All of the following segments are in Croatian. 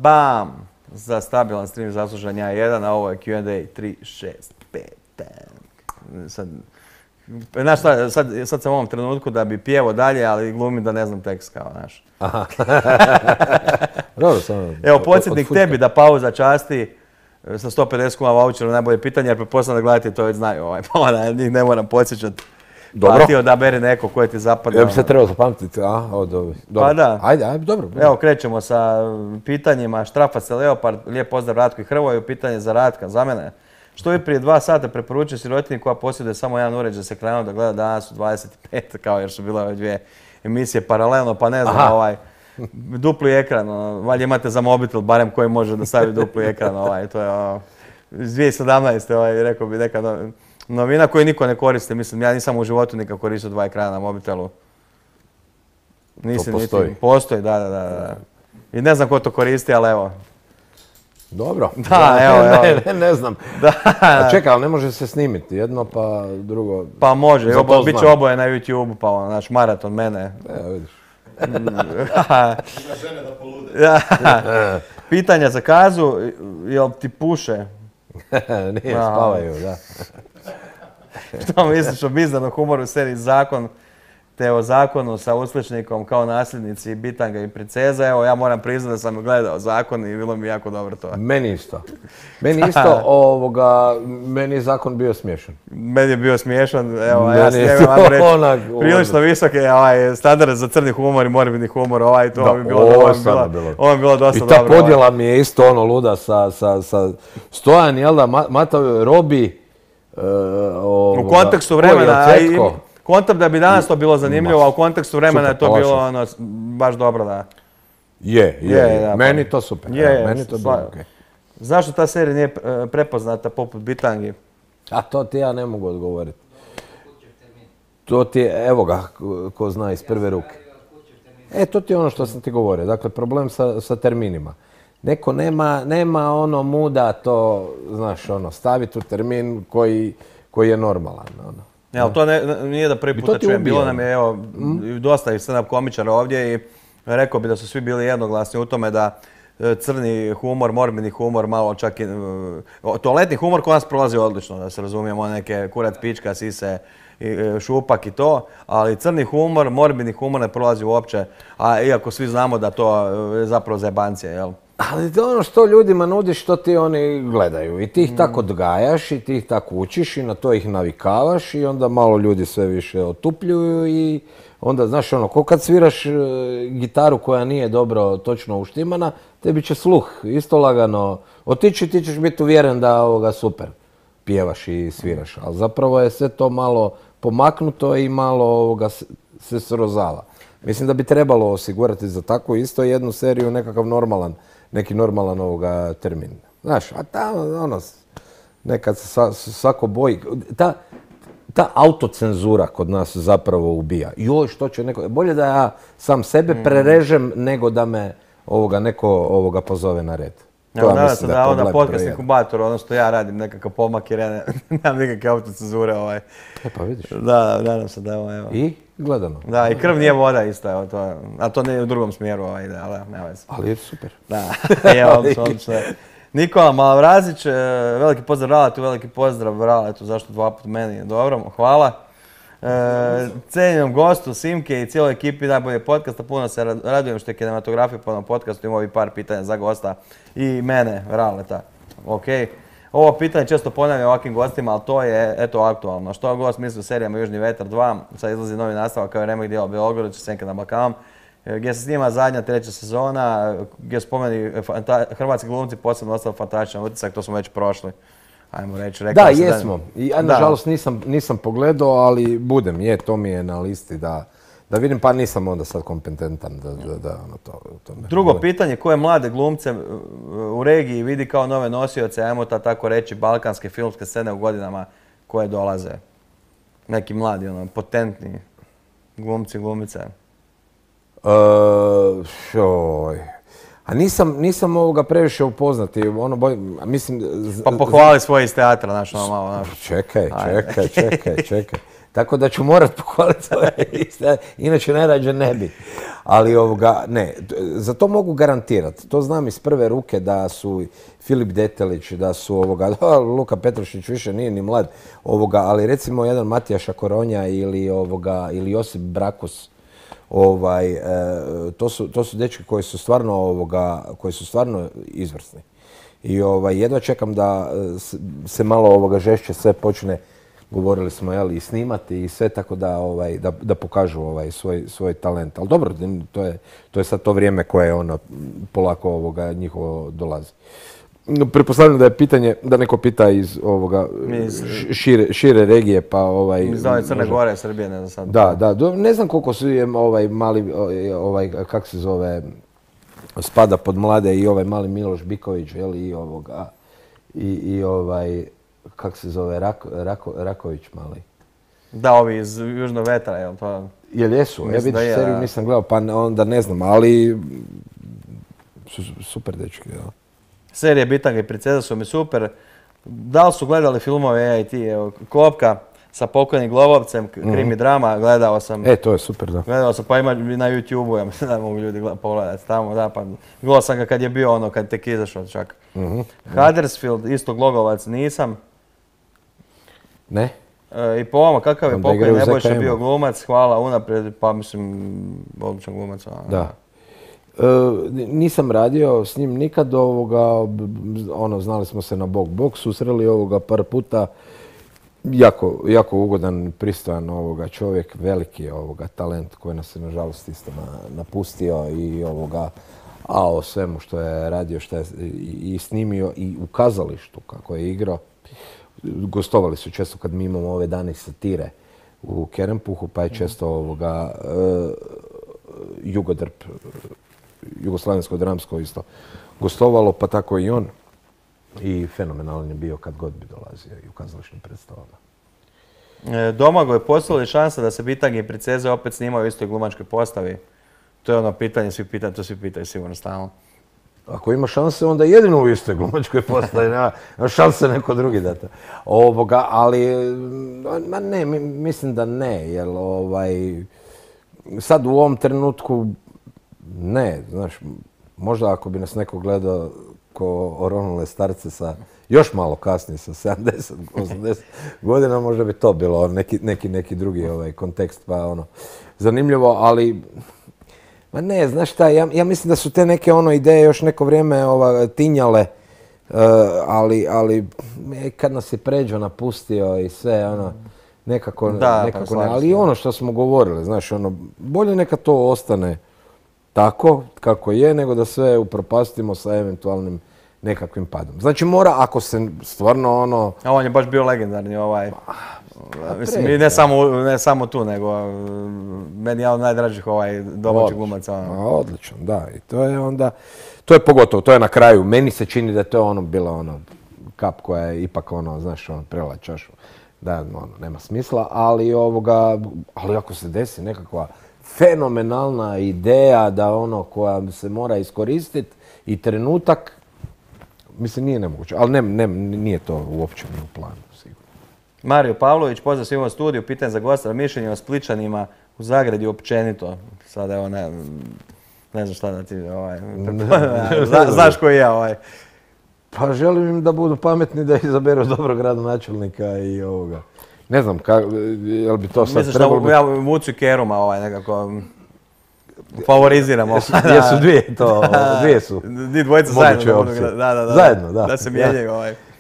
bam! Za stabilan stream zaslužan ja 1, a ovo je Q&A 3, 6, 5, Znaš šta, sad sam u ovom trenutku da bi pjevo dalje, ali glumim da ne znam tekst kao, znaš. Aha. Dobro, samo... Evo, podsjetnik tebi da pauza časti sa 150 kuna vouchera najbolje pitanje, jer pretpostavljam da gledate to već znaju, pa onda njih ne moram podsjećati. Dobro. Pa ti odaberi neko koje ti zapadne. Ja bi se trebao zapamtiti, dobro. Pa da. Ajde, dobro. Evo, krećemo sa pitanjima. Štrafa se Leopard, lijep pozdrav Ratku i Hrvoju, pitanje za Ratka, za mene. Što bi prije 2 sata preporučio sirotinji koja posjeduje samo jedan uređaj s ekranom da gleda danas u 25, kao jer su bile ove 2 emisije paralelno, pa ne znam, dupli ekran, valjda imate za mobitel, barem koji može da stavi dupli ekran, to je iz 2017. Rekao bi neka novina koju niko ne koristi, mislim, ja nisam u životu nikad koristio 2 ekrana na mobitelu. To postoji? Postoji, da. I ne znam ko to koristi, ali evo. Dobro. Da, evo. Ne znam. A čekaj, ali ne može se snimiti jedno pa drugo. Pa može, bit će oboje na YouTube, pa naš maraton mene. Evo vidiš. Žene da polude. Pitanja za Kazu, jel ti puše? Nije, spavaju, da. Što misliš o bizarnom humoru u seriji Zakon, te o zakonu sa usličnikom kao nasljednici Bitanga i Princeza? Evo, ja moram priznati da sam gledao Zakon i bilo mi jako dobro to. Meni isto, meni je Zakon bio smiješan. Meni je bio smiješan, evo, ja s njega vam reći, prilično visoke standarde za crni humor i morbidni humor, to bi bilo dosta dobro. I ta podjela mi je isto luda sa Stojan, jel da, Matao, Robi, u kontekstu vremena, koncept da bi danas to bilo zanimljivo, a u kontekstu vremena je to bilo baš dobro, da. Je, meni to super. Meni to bilo okej. Zašto ta serija nije prepoznata poput Bitangi? A to ti ja ne mogu odgovoriti. To ti je, evo ga, ko zna iz prve ruke. To ti je ono što sam ti govorio. Dakle, problem sa terminima. Neko nema ono muda to, znaš, staviti u termin koji je normalan. Ali to nije da prvi puta čujem. Bilo nam je, evo, dosta i stand-up komičara ovdje i rekao bi da su svi bili jednoglasni u tome da crni humor, morbidni humor, malo čak i... Toaletni humor kod nas prolazi odlično, da se razumijemo, neke kurac, pička, sise, šupak i to, ali crni humor, morbidni humor ne prolazi uopće, a iako svi znamo da to je zapravo zajebancija, jel? Ali to ono što ljudima nudiš, što ti oni gledaju. I ti ih tako odgajaš i ti ih tako učiš i na to ih navikavaš i onda malo ljudi sve više otupljuju i onda, znaš, ko kad sviraš gitaru koja nije dobro točno uštimana, tebi će sluh isto lagano otići, ti ćeš biti uvjeren da super pjevaš i sviraš. Ali zapravo je sve to malo pomaknuto i malo se srozava. Mislim da bi trebalo osigurati za takvu isto jednu seriju neki normalan termin. Znaš, a tamo, nekad se svako boji. Ta autocenzura kod nas zapravo ubija. Joj, što će neko... Bolje da ja sam sebe prerežem nego da me neko pozove na red. Nadam se da onda podcast inkubator, ono što ja radim, nekakav pomak jer ja nemam nikakve autocenzure. Pa vidiš. Da, nadam se da evo. I gledano. Da, i krv nije voda isto, a to ne u drugom smjeru, ali nema veze. Ali je super. Da, odlično. Nikola Malavrazić, veliki pozdrav Raletu, veliki pozdrav Raletu, zašto 2 puta meni, dobro, hvala. Cijenjenom gostu, Simke i cijeloj ekipi najbolje podcasta, puno se radujem što je kinematografija po ovom podcastu, imao bi par pitanja za gosta i mene, Raleta. Ovo pitanje često ponavljam ovakvim gostima, ali to je, eto, aktualno. Što gost misli o serijama Južni vetar 2, sad izlazi novi nastavak kao remake dijela Beograd, Senka na Balkanu, gdje se snima zadnja 3. sezona, gdje spomeni hrvatski glumci posebno ostali fantastičan utisak, to smo već prošli. Ajmo reći, da, jesmo. Ja nažalost nisam pogledao, ali budem, to mi je na listi da vidim, pa nisam onda sad kompetentan da to... Drugo pitanje, koje mlade glumce u regiji vidi kao nove nosioce, ajmo tako reći, balkanske filmske scene u godinama koje dolaze? Neki mladi, potentni glumci, glumice. A nisam previše upoznati, mislim... Pa pohvali svoje iz teatra, znaš, malo, znaš. Čekaj. Tako da ću morat pohvaliti inače najrađe ne bi. Ali ne, za to mogu garantirati. To znam iz prve ruke da su Filip Detelić, da su Luka Petrušić više nije ni mlad, ali recimo jedan Matija Šakoronja ili Josip Brakus, to su dečki koji su stvarno izvrsni. I jedva čekam da se malo žešće sve počne, govorili smo, i snimati i sve, tako da pokažu svoj talent. Ali dobro, to je sad to vrijeme koje polako njihovo dolazi. Pretpostavljam da je pitanje, da neko pita iz šire regije, pa iz Crne Gore, Srbije, ne znam sad. Da, ne znam koliko su mali, kako se zove, spada pod mlade i mali Miloš Biković, i kako se zove, Raković mali. Da, ovi iz Južnog vetra, jel to? Jel jesu? Ja vidiš, seriju nisam gledao, pa onda ne znam, ali super dečki, jel? Serije Bitanga i Princeza su mi super. Da li su gledali filmove AIT? Klopka sa pokojnim Globovcem, krimi drama, gledao sam. To je super, da. Gledao sam, pa ima na YouTube-u, ja mislim da mogu ljudi pogledati tamo, da, pa gledao sam ga kad je bio kad tek izašao čak. Huddersfield, isto Glogovac, nisam. Ne? I po ovome, kakav je pokojni Nebojša bio glumac, hvala unaprijed, pa mislim, odličan glumac. Da. Nisam radio s njim nikad znali smo se na bok, susreli par puta. Jako ugodan, pristojan čovjek, veliki talent koji nas je nažalost isto napustio i o svemu što je radio, što je i snimio i u kazalištu kako je igrao. Gostovali su često kad mi imamo ove dane satire u Kerempuhu, pa je često Jugodrp, Jugoslavensko dramsko isto gostovalo, pa tako i on. I fenomenalan je bio kad god bi dolazio i u kazališnim predstavama. Domagoj, postoji li šansa da se Bitanga i Princeze opet snimaju u istoj glumačkoj postavi? To je pitanje, to svi pitaju sigurno stalno. Ako ima šanse, onda jedino u istoj glumačkoj postavi, nema šanse neko drugi da to. Ali, ne, mislim da ne, jer sad u ovom trenutku ne, znaš, možda ako bi nas neko gledao ko oronule starce sa još malo kasnije, sa 70, 80 godina, možda bi to bilo neki drugi kontekst, pa zanimljivo, ali ne, znaš šta, ja mislim da su te neke ideje još neko vrijeme tinjale, ali kad nas je Pređo napustio i sve, nekako ne, ali ono što smo govorili, znaš, bolje neka to ostane tako kako je, nego da sve upropastimo sa eventualnim nekakvim padom. Znači mora, ako se stvarno A on je baš bio legendarni mislim, ne samo tu, nego meni je od najdražih domaćih glumaca. Odlično, da. I to je onda, to je pogotovo, to je na kraju. Meni se čini da je to bila kap koja je ipak znaš, prela čašu. Da, nema smisla, ali ako se desi nekakva fenomenalna ideja da koja se mora iskoristiti i trenutak, mislim, nije nemoguće, ali nije to uopće u planu, sigurno. Mario Pavlović, pozdrav svima u studiju, pitanje za gosta, mišljenje o Spličanima u Zagradi općenito. Sada evo, ne znam šta da ti, znaš koji je Pa želim im da budu pametni, da izaberu dobrog gradonačelnika i ovoga. Ne znam, jel bi to sad trebalo biti... Misliš da Vucu i Keruma nekako favoriziramo. Jesu dvije to, dvije su. Dvojica zajedno. Zajedno, da. Da se mijenjaju.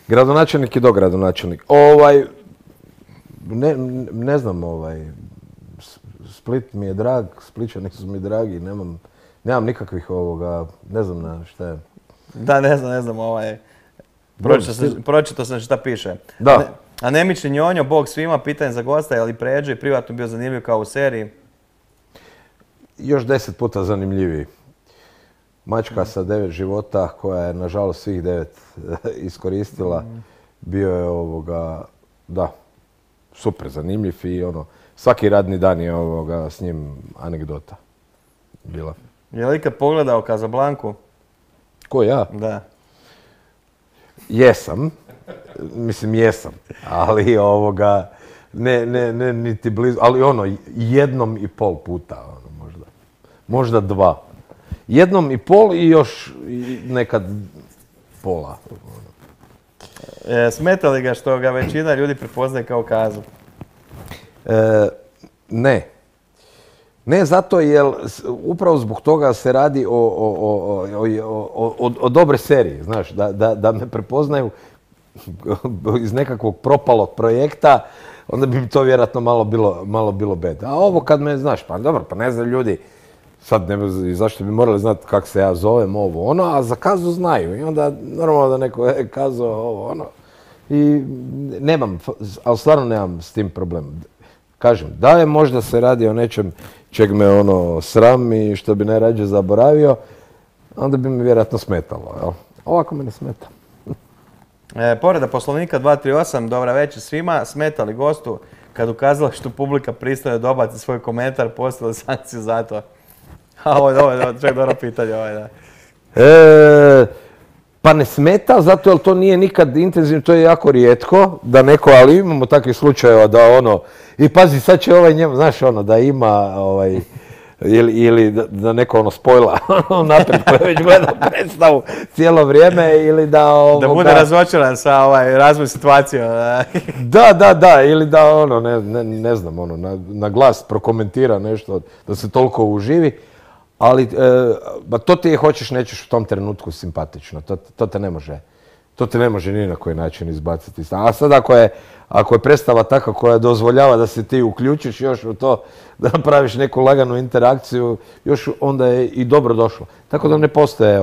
Gradonačelnik i dogradonačelnik. Ne znam, Split mi je drag, Spličani su mi dragi, nemam nikakvih ne znam na šta je. Da, ne znam, pročitao sam šta piše. Da. Anemični Njonjo, bog svima, pitanje za gosta, je li Pređo i privatno bio zanimljiv kao u seriji? Još 10 puta zanimljiviji. Mačka sa 9 života, koja je nažalost svih 9 iskoristila, bio je da, super zanimljiv i svaki radni dan je s njim anegdota bila. Je li ikad pogledao Casablancu? Ko, ja? Da. Jesam. Mislim, jesam. Ali ne niti blizu, ali ono, 1,5 puta, ono, možda 2. 1,5 i još nekad pola. Smeta li ga što ga većina ljudi prepoznaje kao Kazu? Ne. Ne zato jer upravo zbog toga se radi o dobre seriji, znaš, da me prepoznaju iz nekakvog propalog projekta, onda bi mi to vjerojatno malo bilo bed. A ovo kad me, znaš, pa dobro, pa ne znam ljudi, sad ne znam zašto bi morali znati kako se ja zovem, ovo, ono, a za Kazu znaju. I onda normalno da neko je Kazo, ovo, ono. I nemam, ali stvarno nemam s tim problem. Kažem, da je možda se radi o nečem čeg me ono sram i što bi najrađe zaboravio, onda bi mi vjerojatno smetalo, jel? Ovako me ne smeta. Povreda Poslovnika 238, dobra večer svima. Smeta li gostu kad u kazalištu publika pristaje dobaci svoj komentar, postoje li sankcije za to? Ovo je čak dobro pitanje, da. Pa ne smeta, zato jer to nije nikad intenzivno, to je jako rijetko, da neko, ali imamo takvih slučajeva da ono, i pazi sad će ovaj njemu, znaš ono, da ima, ili da neko ono spojla naprijed koji već gleda predstavu cijelo vrijeme ili da da bude razočaran sa razvoj situacije. Da, ili da ono, ne znam, ono, na glas prokomentira nešto, da se toliko uživi. Ali to ti je, hoćeš, nećeš u tom trenutku simpatično. To te ne može ni na koji način izbaciti. A sad ako je predstava takva koja dozvoljava da se ti uključiš još u to, da napraviš neku laganu interakciju, još onda je i dobro došlo. Tako da ne postoje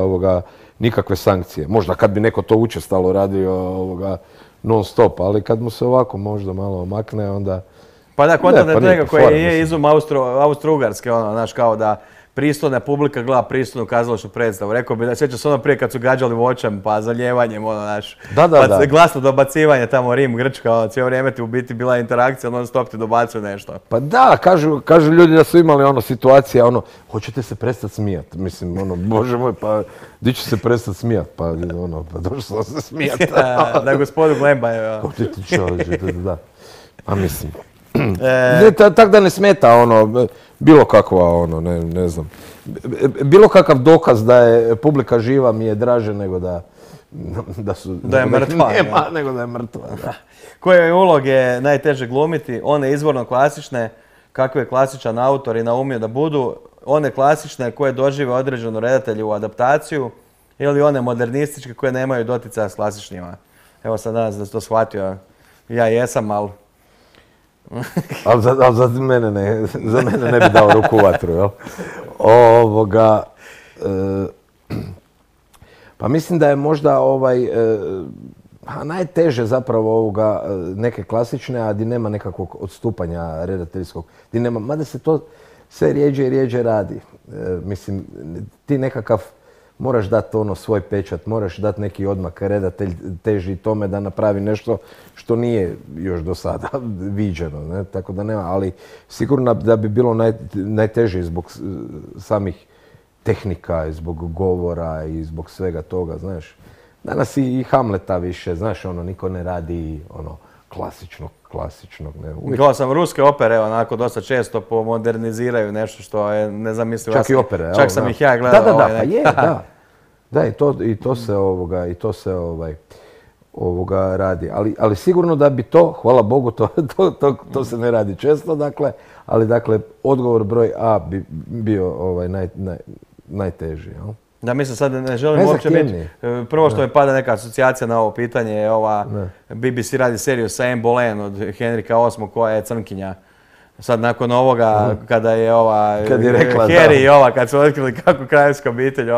nikakve sankcije. Možda kad bi neko to učestalo radio non stop, ali kad mu se ovako možda malo omakne, onda... Pa da, kontam je njega koji je izum Austro-Ugarske, ono, znaš, kao da pristojna publika gleda pristojnu kazališnu predstavu. Rekao bi da sjeća se ono prije kad su gađali voćem pa zaljevanjem, ono, znaš, pa glasno dobacivanje tamo Rim, Grčka, ono, cijelo vrijeme ti u biti bila interakcija, non stop ti dobacuju nešto. Pa da, kažu ljudi da su imali ono situacija, ono, hoćete se prestati smijat, mislim, ono, bože moj, pa di ću se prestati smijat, pa ono, pa došlo sam se smijat. Da, gospodu Glemba je, da. A mislim, tak da ne smeta, ono, bilo kakva, ono, ne znam, bilo kakav dokaz da je publika živa mi je draže nego da je mrtva. Nego da je mrtva, da. Koje uloge najteže glumiti? One izvorno klasične, kakve je klasičan autor i naumio da budu, one klasične koje dožive određenu redatelju u adaptaciju ili one modernističke koje nemaju doticaja s klasičnjima. Evo sad danas da si to shvatio, ja jesam, ali... Ali za mene ne bi dao ruku u vatru, jel? Pa mislim da je možda najteže zapravo neke klasične, a di nema nekakvog odstupanja redateljskog. Mada se to sve rijeđe i rijeđe radi. Mislim, ti nekakav moraš dati svoj pečat, moraš dati neki odmak, redatelj teži tome da napravi nešto što nije još do sada viđeno, ne? Tako da nema, ali sigurno da bi bilo najteže zbog samih tehnika, i zbog govora i zbog svega toga, znaš. Danas i Hamleta više, znaš, niko ne radi klasičnog, ne. Gledao sam ruske opere, onako dosta često pomoderniziraju nešto što je nezamislivo. Čak i opere, čak sam ih ja gledao. Da, pa je, da. Da, i to se radi. Ali sigurno da bi to, hvala Bogu, to se ne radi često, dakle, ali dakle, odgovor broj A bi bio najteži, jel? Da, mislim, sad ne želim uopće biti. Prvo što mi pada neka asocijacija na ovo pitanje je ova BBC radi seriju sa Anne Boleyn od Henrika VIII koja je crnkinja. Sad nakon ovoga, kada je Harry i ova, kad su otkrili kako kraljevska obitelj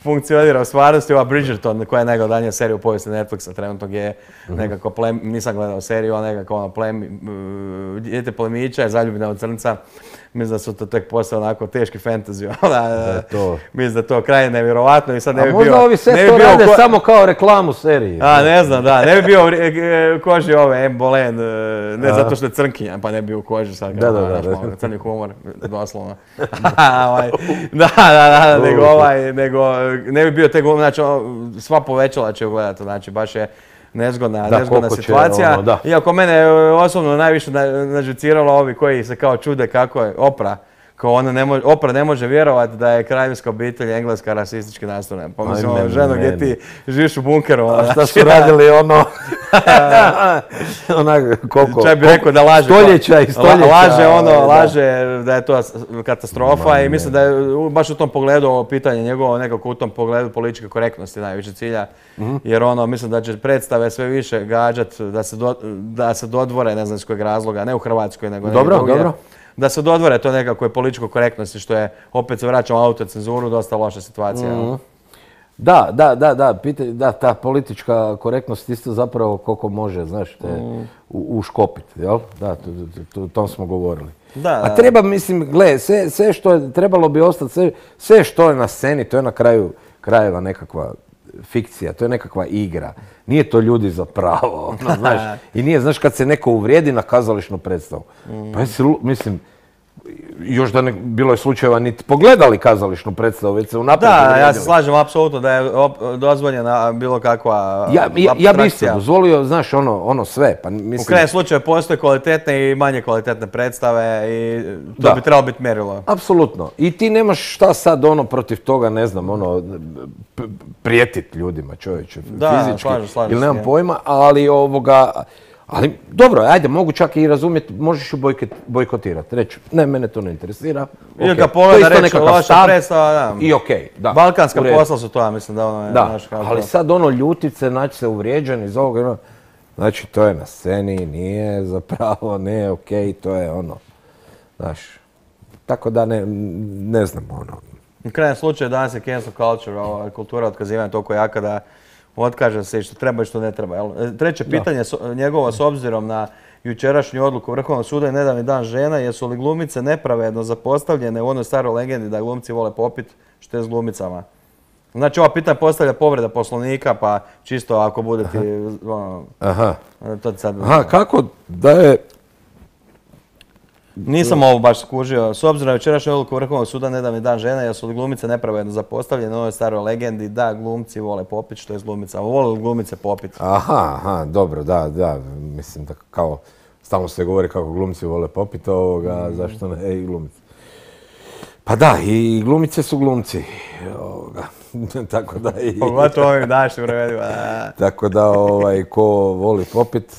funkcionira u stvarnosti, ova Bridgerton, koja je najgledanija serija u povijesti Netflixa, trenutno je nekako nisam gledao seriju, ali nekako dijete plemića je zaljubljena u crnca. Mislim da su to tek postali onako teški fantasy. Mislim da je to krajnje nevjerovatno i sad ne bi bio... A možda ovi sve to rade samo kao reklamu serije. Ne znam, da. Ne bi bio u koži ove Anne Boleyn, ne zato što je crnkinja, pa ne bi bio u koži sad. Da. Crni humor, doslovno. Nego ne bi bio te glumi, znači sva povećala će ju gledati, znači baš je nezgodna koliko će, situacija. ono, da. Iako mene osobno najviše nažuciralo ovi koji se kao čude kako je Oprah. Kao Oprah ne može vjerovati da je kraljevska obitelj engleska rasistički nastrojena. Pa mislim, ženo, gdje ti živiš u bunkeru. A šta su radili ono? Koliko? Čaj bi rekao da laže. Stoljeća i stoljeća. Laže da je to katastrofa i mislim da je baš u tom pogledu ovo pitanje njegovo nekako u tom pogledu političke korektnosti najviše cilja. Jer mislim da će predstave sve više gađati da se dodvore, ne znam iz kojeg razloga, ne u Hrvatskoj nego negdje drugdje. Dobro. Da se dodvore to nekakve političkoj korektnosti, što je, opet se vraćamo autocenzuru, dosta loša situacija. Da, ta politička korektnost isto zapravo koliko može, znaš, uškopiti, jel? Da, o tom smo govorili. A treba, mislim, gle, sve što je, trebalo bi ostati, sve što je na sceni, to je na kraju krajeva nekakva fikcija, to je nekakva igra. Nije to ljudi za pravo, znaš. I nije, znaš, kad se neko uvrijedi na kazališnu predstavu. Pa mislim, još da bilo je slučajeva niti pogledali kazališnu predstavu, već se unaprijed uvrijedili. Da, ja se slažem apsolutno da je dozvoljena bilo kakva apstrakcija. Ja bi isto dozvolio, znaš, ono sve. Pa, mislim... U krajnjem slučaju postoje kvalitetne i manje kvalitetne predstave i to bi trebalo biti mjerilo. Apsolutno. I ti nemaš šta sad protiv toga, ne znam, prijetit ljudima, čovječe, fizički. Slažem ili nemam pojma, ali ali dobro, ajde, mogu čak i razumjeti, možeš ju bojkotirati, reći, ne, mene to ne interesira. Ili ga pogleda reći, loša predstava, da. I okej, da. Balkanska posla su to, ja mislim da ono je, znaš kako. Ali sad ljutit se, naći se uvrijeđen iz ovoga, znači to je na sceni, nije zapravo, ne, okej, to je znaš. Tako da ne znam, U krajnjem slučaju danas je cancel culture, kultura otkazivanja toliko jaka da otkaže se što treba i što ne treba. Treće pitanje njegovo s obzirom na jučerašnju odluku Vrhovnog suda i nedavni dan žena, jesu li glumice nepravedno zapostavljene u onoj staroj legendi da glumci vole popit, što je s glumicama? Znači, ova pitanja postavlja povreda Poslovnika, pa čisto ako bude ti... Kako da je... Nisam ovo baš skužio. S obzirom na jučerašnju odluku Vrhovnog suda nedavni dan žena, jesu li glumice nepravedno zapostavljene u ovoj staroj legendi da glumci vole popit, što je s glumicama. Vole li glumice popit? Aha, dobro, da. Mislim da kao, stalno se govori kako glumci vole popit ovoga, zašto ne i glumice. Pa da, i glumice su glumci. Tako da i... Pogotovo ovim današnjim vremenima. Tako da, ko voli popit,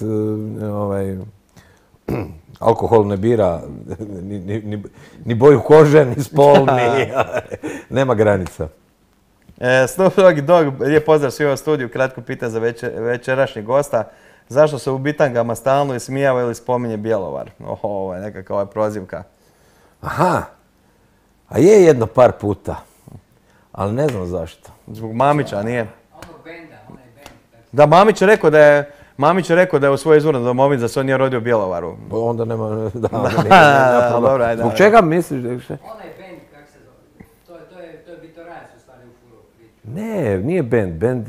alkohol ne bira ni boju kože, ni spol, nema granica. Snoop Dogg, lijep pozdrav svima u studiju, kratko pitanje za večerašnjeg gosta. Zašto se u bitangama stalno ismijava ili spominje Bjelovar? Ovo je nekakva prozivka. Aha, a je jedno par puta, ali ne znam zašto. Zbog Mamića, nije? Da, Mamić je rekao da je u svojoj izvornoj domovini da se on nije rodio u Bjelovaru. Onda nema... Dobro, ajde. Zbog čega misliš? Onaj band, kako se zove? To je Bitorajac u stvari u furu priču. Ne,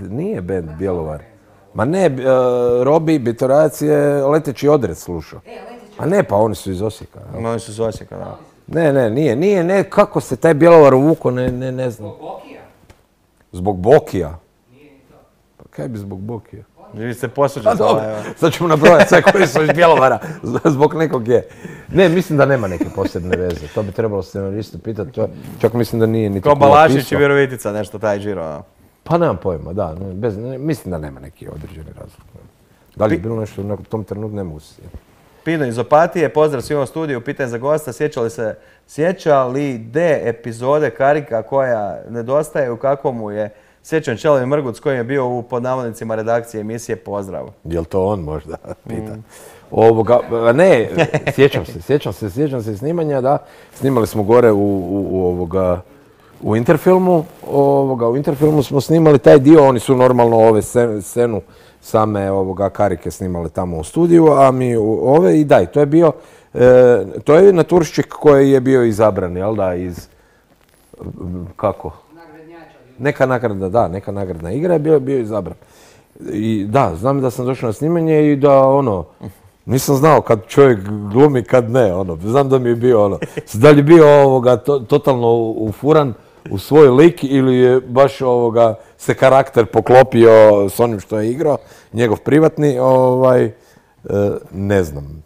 nije band Bjelovar. Ma ne, Robi Bitorajac je Leteći odred slušao. A ne, pa oni su iz Osijeka. Oni su iz Osijeka, da. Ne, kako se taj Bjelovar uvukao, ne znam. Zbog Bokija? Zbog Bokija? Nije ni to. Pa kaj bi zbog Bokija? Vi ste posuđeni. Sad ćemo nabrojati sve koji su iz Bjelovara, zbog nekog je. Ne, mislim da nema neke posebne veze. To bi trebalo scenaristu pitati. Čak mislim da nije niti ko Balašić i Virovitica, nešto taj Điro. Pa nemam pojma, da. Mislim da nema neki određeni razlog. Da li je bilo nešto u tom trenutku, ne mogu se sjetiti. Pino iz Opatije, pozdrav svima u studiju, pitanje za gosta, sjeća li D epizode Karika koja nedostaje, u kakvom mu je sjećan Čelovi Mrgut s kojim je bio u pod navodnicima redakcije emisije Pozdrav? Jel to on možda pita? Ne, sjećam se snimanja, da. Snimali smo gore u Interfilmu. U Interfilmu smo snimali taj dio, oni su normalno scenu same Karike snimali tamo u studiju, a mi i daj, to je naturščik koji je bio izabran, jel da, iz, kako? Neka nagradna igra je bio izabran. I da, znam da sam došao na snimanje i da nisam znao kad čovjek glumi, kad ne, znam da mi je bio da li je bio totalno ufuran, u svoj lik ili je baš se karakter poklopio s onim što je igrao, njegov privatni, ne znam.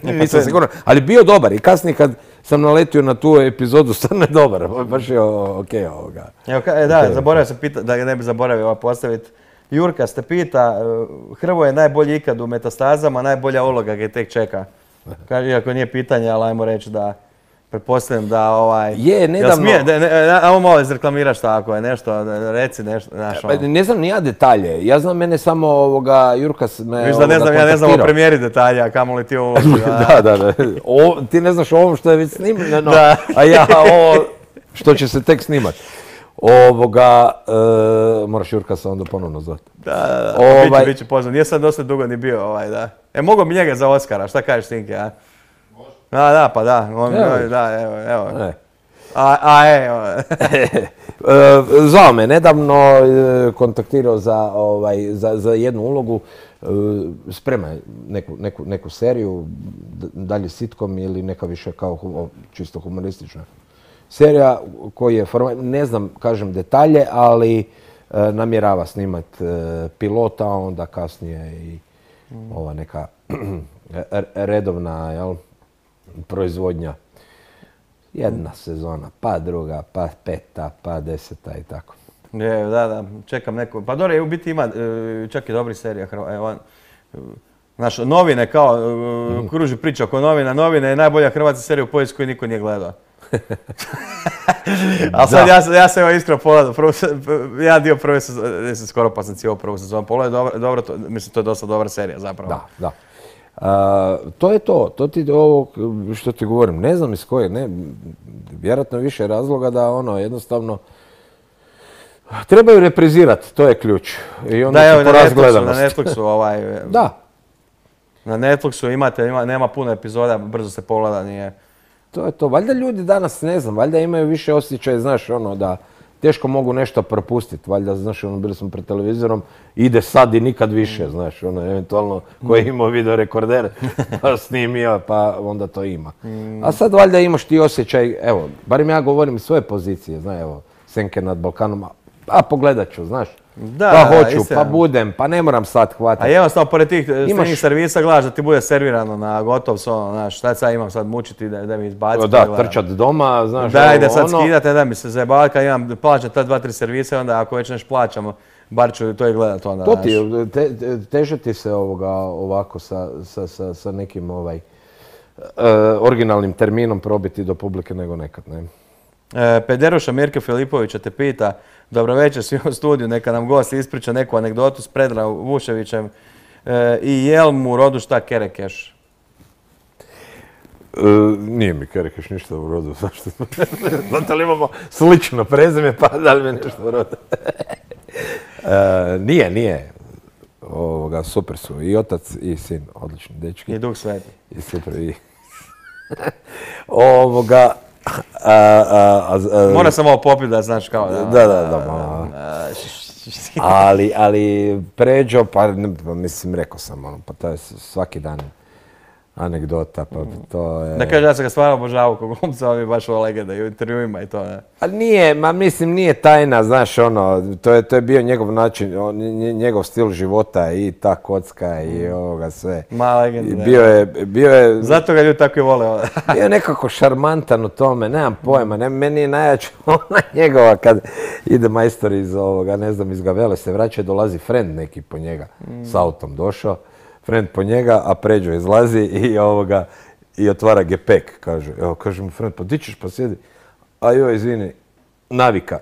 Nisam siguran, ali bio dobar i kasnije kad sam naletio na tu epizodu, stvarno je dobar, baš je okej ovoga. Evo, da, zaboravio sam pitati, da ga ne bi zaboravio postaviti. Jurka ste pita, Hrvoje je najbolji ikad u Metastazama, najbolja uloga ga tek čeka. Iako nije pitanje, ali ajmo reći da pretpostavljam da Je, nedavno... Ajmo malo izreklamiraš tako je, nešto, reci nešto. Ne znam ni ja detalje, ja znam mene samo Jurka me Viš da ja ne znam o premijeri detalja, kamo li ti ovo uloži. Da. Ti ne znaš o ovom što je već snimljeno, a ja ovo što će se tek snimat. Moraš Jurka se onda ponovno zvati. Da, bit će pozvan. Nije sad dosta dugo ni bio, da. Mogo bi njega za Oskara, šta kažeš Tinke, a? Može. Da, pa da. Evo. Zvao me nedavno, kontaktirao za jednu ulogu, sprema neku seriju, dalje sitcom ili neka više kao čisto humoristična serija koji je ne znam, kažem detalje, ali namjerava snimat pilota, onda kasnije i ova neka redovna proizvodnja. Jedna sezona, pa druga, pa peta, pa 10 i tako. Da, čekam neko. Pa dobro, u biti ima čak i dobri serija. Znaš, novine kao, kruži priča oko novina. Novine je najbolja hrvatska serija u povijesti koju niko nije gledao. Ali sad ja sam evo iskreno pogledao, jedan dio prve sezone, skoro pa sam cijelu prvu sezonu pogledao, dobro, mislim to je dosta dobra serija zapravo. Da. To je to ti ovo što ti govorim, ne znam iz koje, vjerojatno više razloga da jednostavno trebaju reprizirati, to je ključ. I onda da, evo na Netflixu, Da. Na Netflixu nema puno epizoda, brzo se pogleda, nije. To je to. Valjda ljudi danas, ne znam, valjda imaju više osjećaja, znaš, da teško mogu nešto propustiti. Valjda, znaš, bili smo pred televizorom, ide sad i nikad više, znaš, eventualno ko je imao video rekorder, pa snimio, pa onda to ima. A sad valjda imaš ti osjećaj, evo, barem ja govorim iz svoje pozicije, znaš, evo, Senke nad Balkanom, a pogledat ću, znaš. Pa hoću, pa budem, pa ne moram sad hvatati. A jednostavno, pored tih streaming servisa gledaš da ti bude servirano na gotov, znaš, šta sad imam sad mučiti da mi izbaciti. Da, trčat doma, znaš. Da, ide sad skidati, da mi se zajebavati, kad imam plaćam ta 2-3 servisa, onda ako već nešto plaćamo, bar ću to i gledat onda. To ti, teže ti se ovako sa nekim originalnim terminom probiti do publike nego nekad, ne? Pederuša Mirke Filipovića te pita, dobro večer svi u studiju, neka nam gost ispriča neku anegdotu s Predragom Vuševićem i jel mu u rodu šta Kerekeš? Nije mi Kerekeš ništa u rodu, zašto? Znate li imamo slično prezime, pa da li mi nešto u rodu? Nije. Super su i otac i sin, odlični dečki. I Duh Sveti. I super, i... Mora sam ovo popiti da znaš kao da. Ali Pređo, pa mislim, rekao sam, pa to je svaki dan anegdota, pa to je... Da kaže, ja sam ga stvarno obožavao kog glumca, on je baš ova legenda i u intervjuima i to, ne? Ali nije tajna, znaš, to je bio njegov način, njegov stil života i ta kocka i ovoga sve. Ma legenda, bio je... Zato ga ljudi tako i vole. Bio je nekako šarmantan u tome, nemam pojma, meni je najjače ona njegova kad ide majstor iz ovoga, ne znam, iz Gavele se vraća, dolazi friend neki po njega, s autom došao. Friend po njega, a Pređo izlazi i otvara gepek, kaže. Evo, kaže mu friend, pa di ćeš, pa sjedi. A joj, izvini, navika.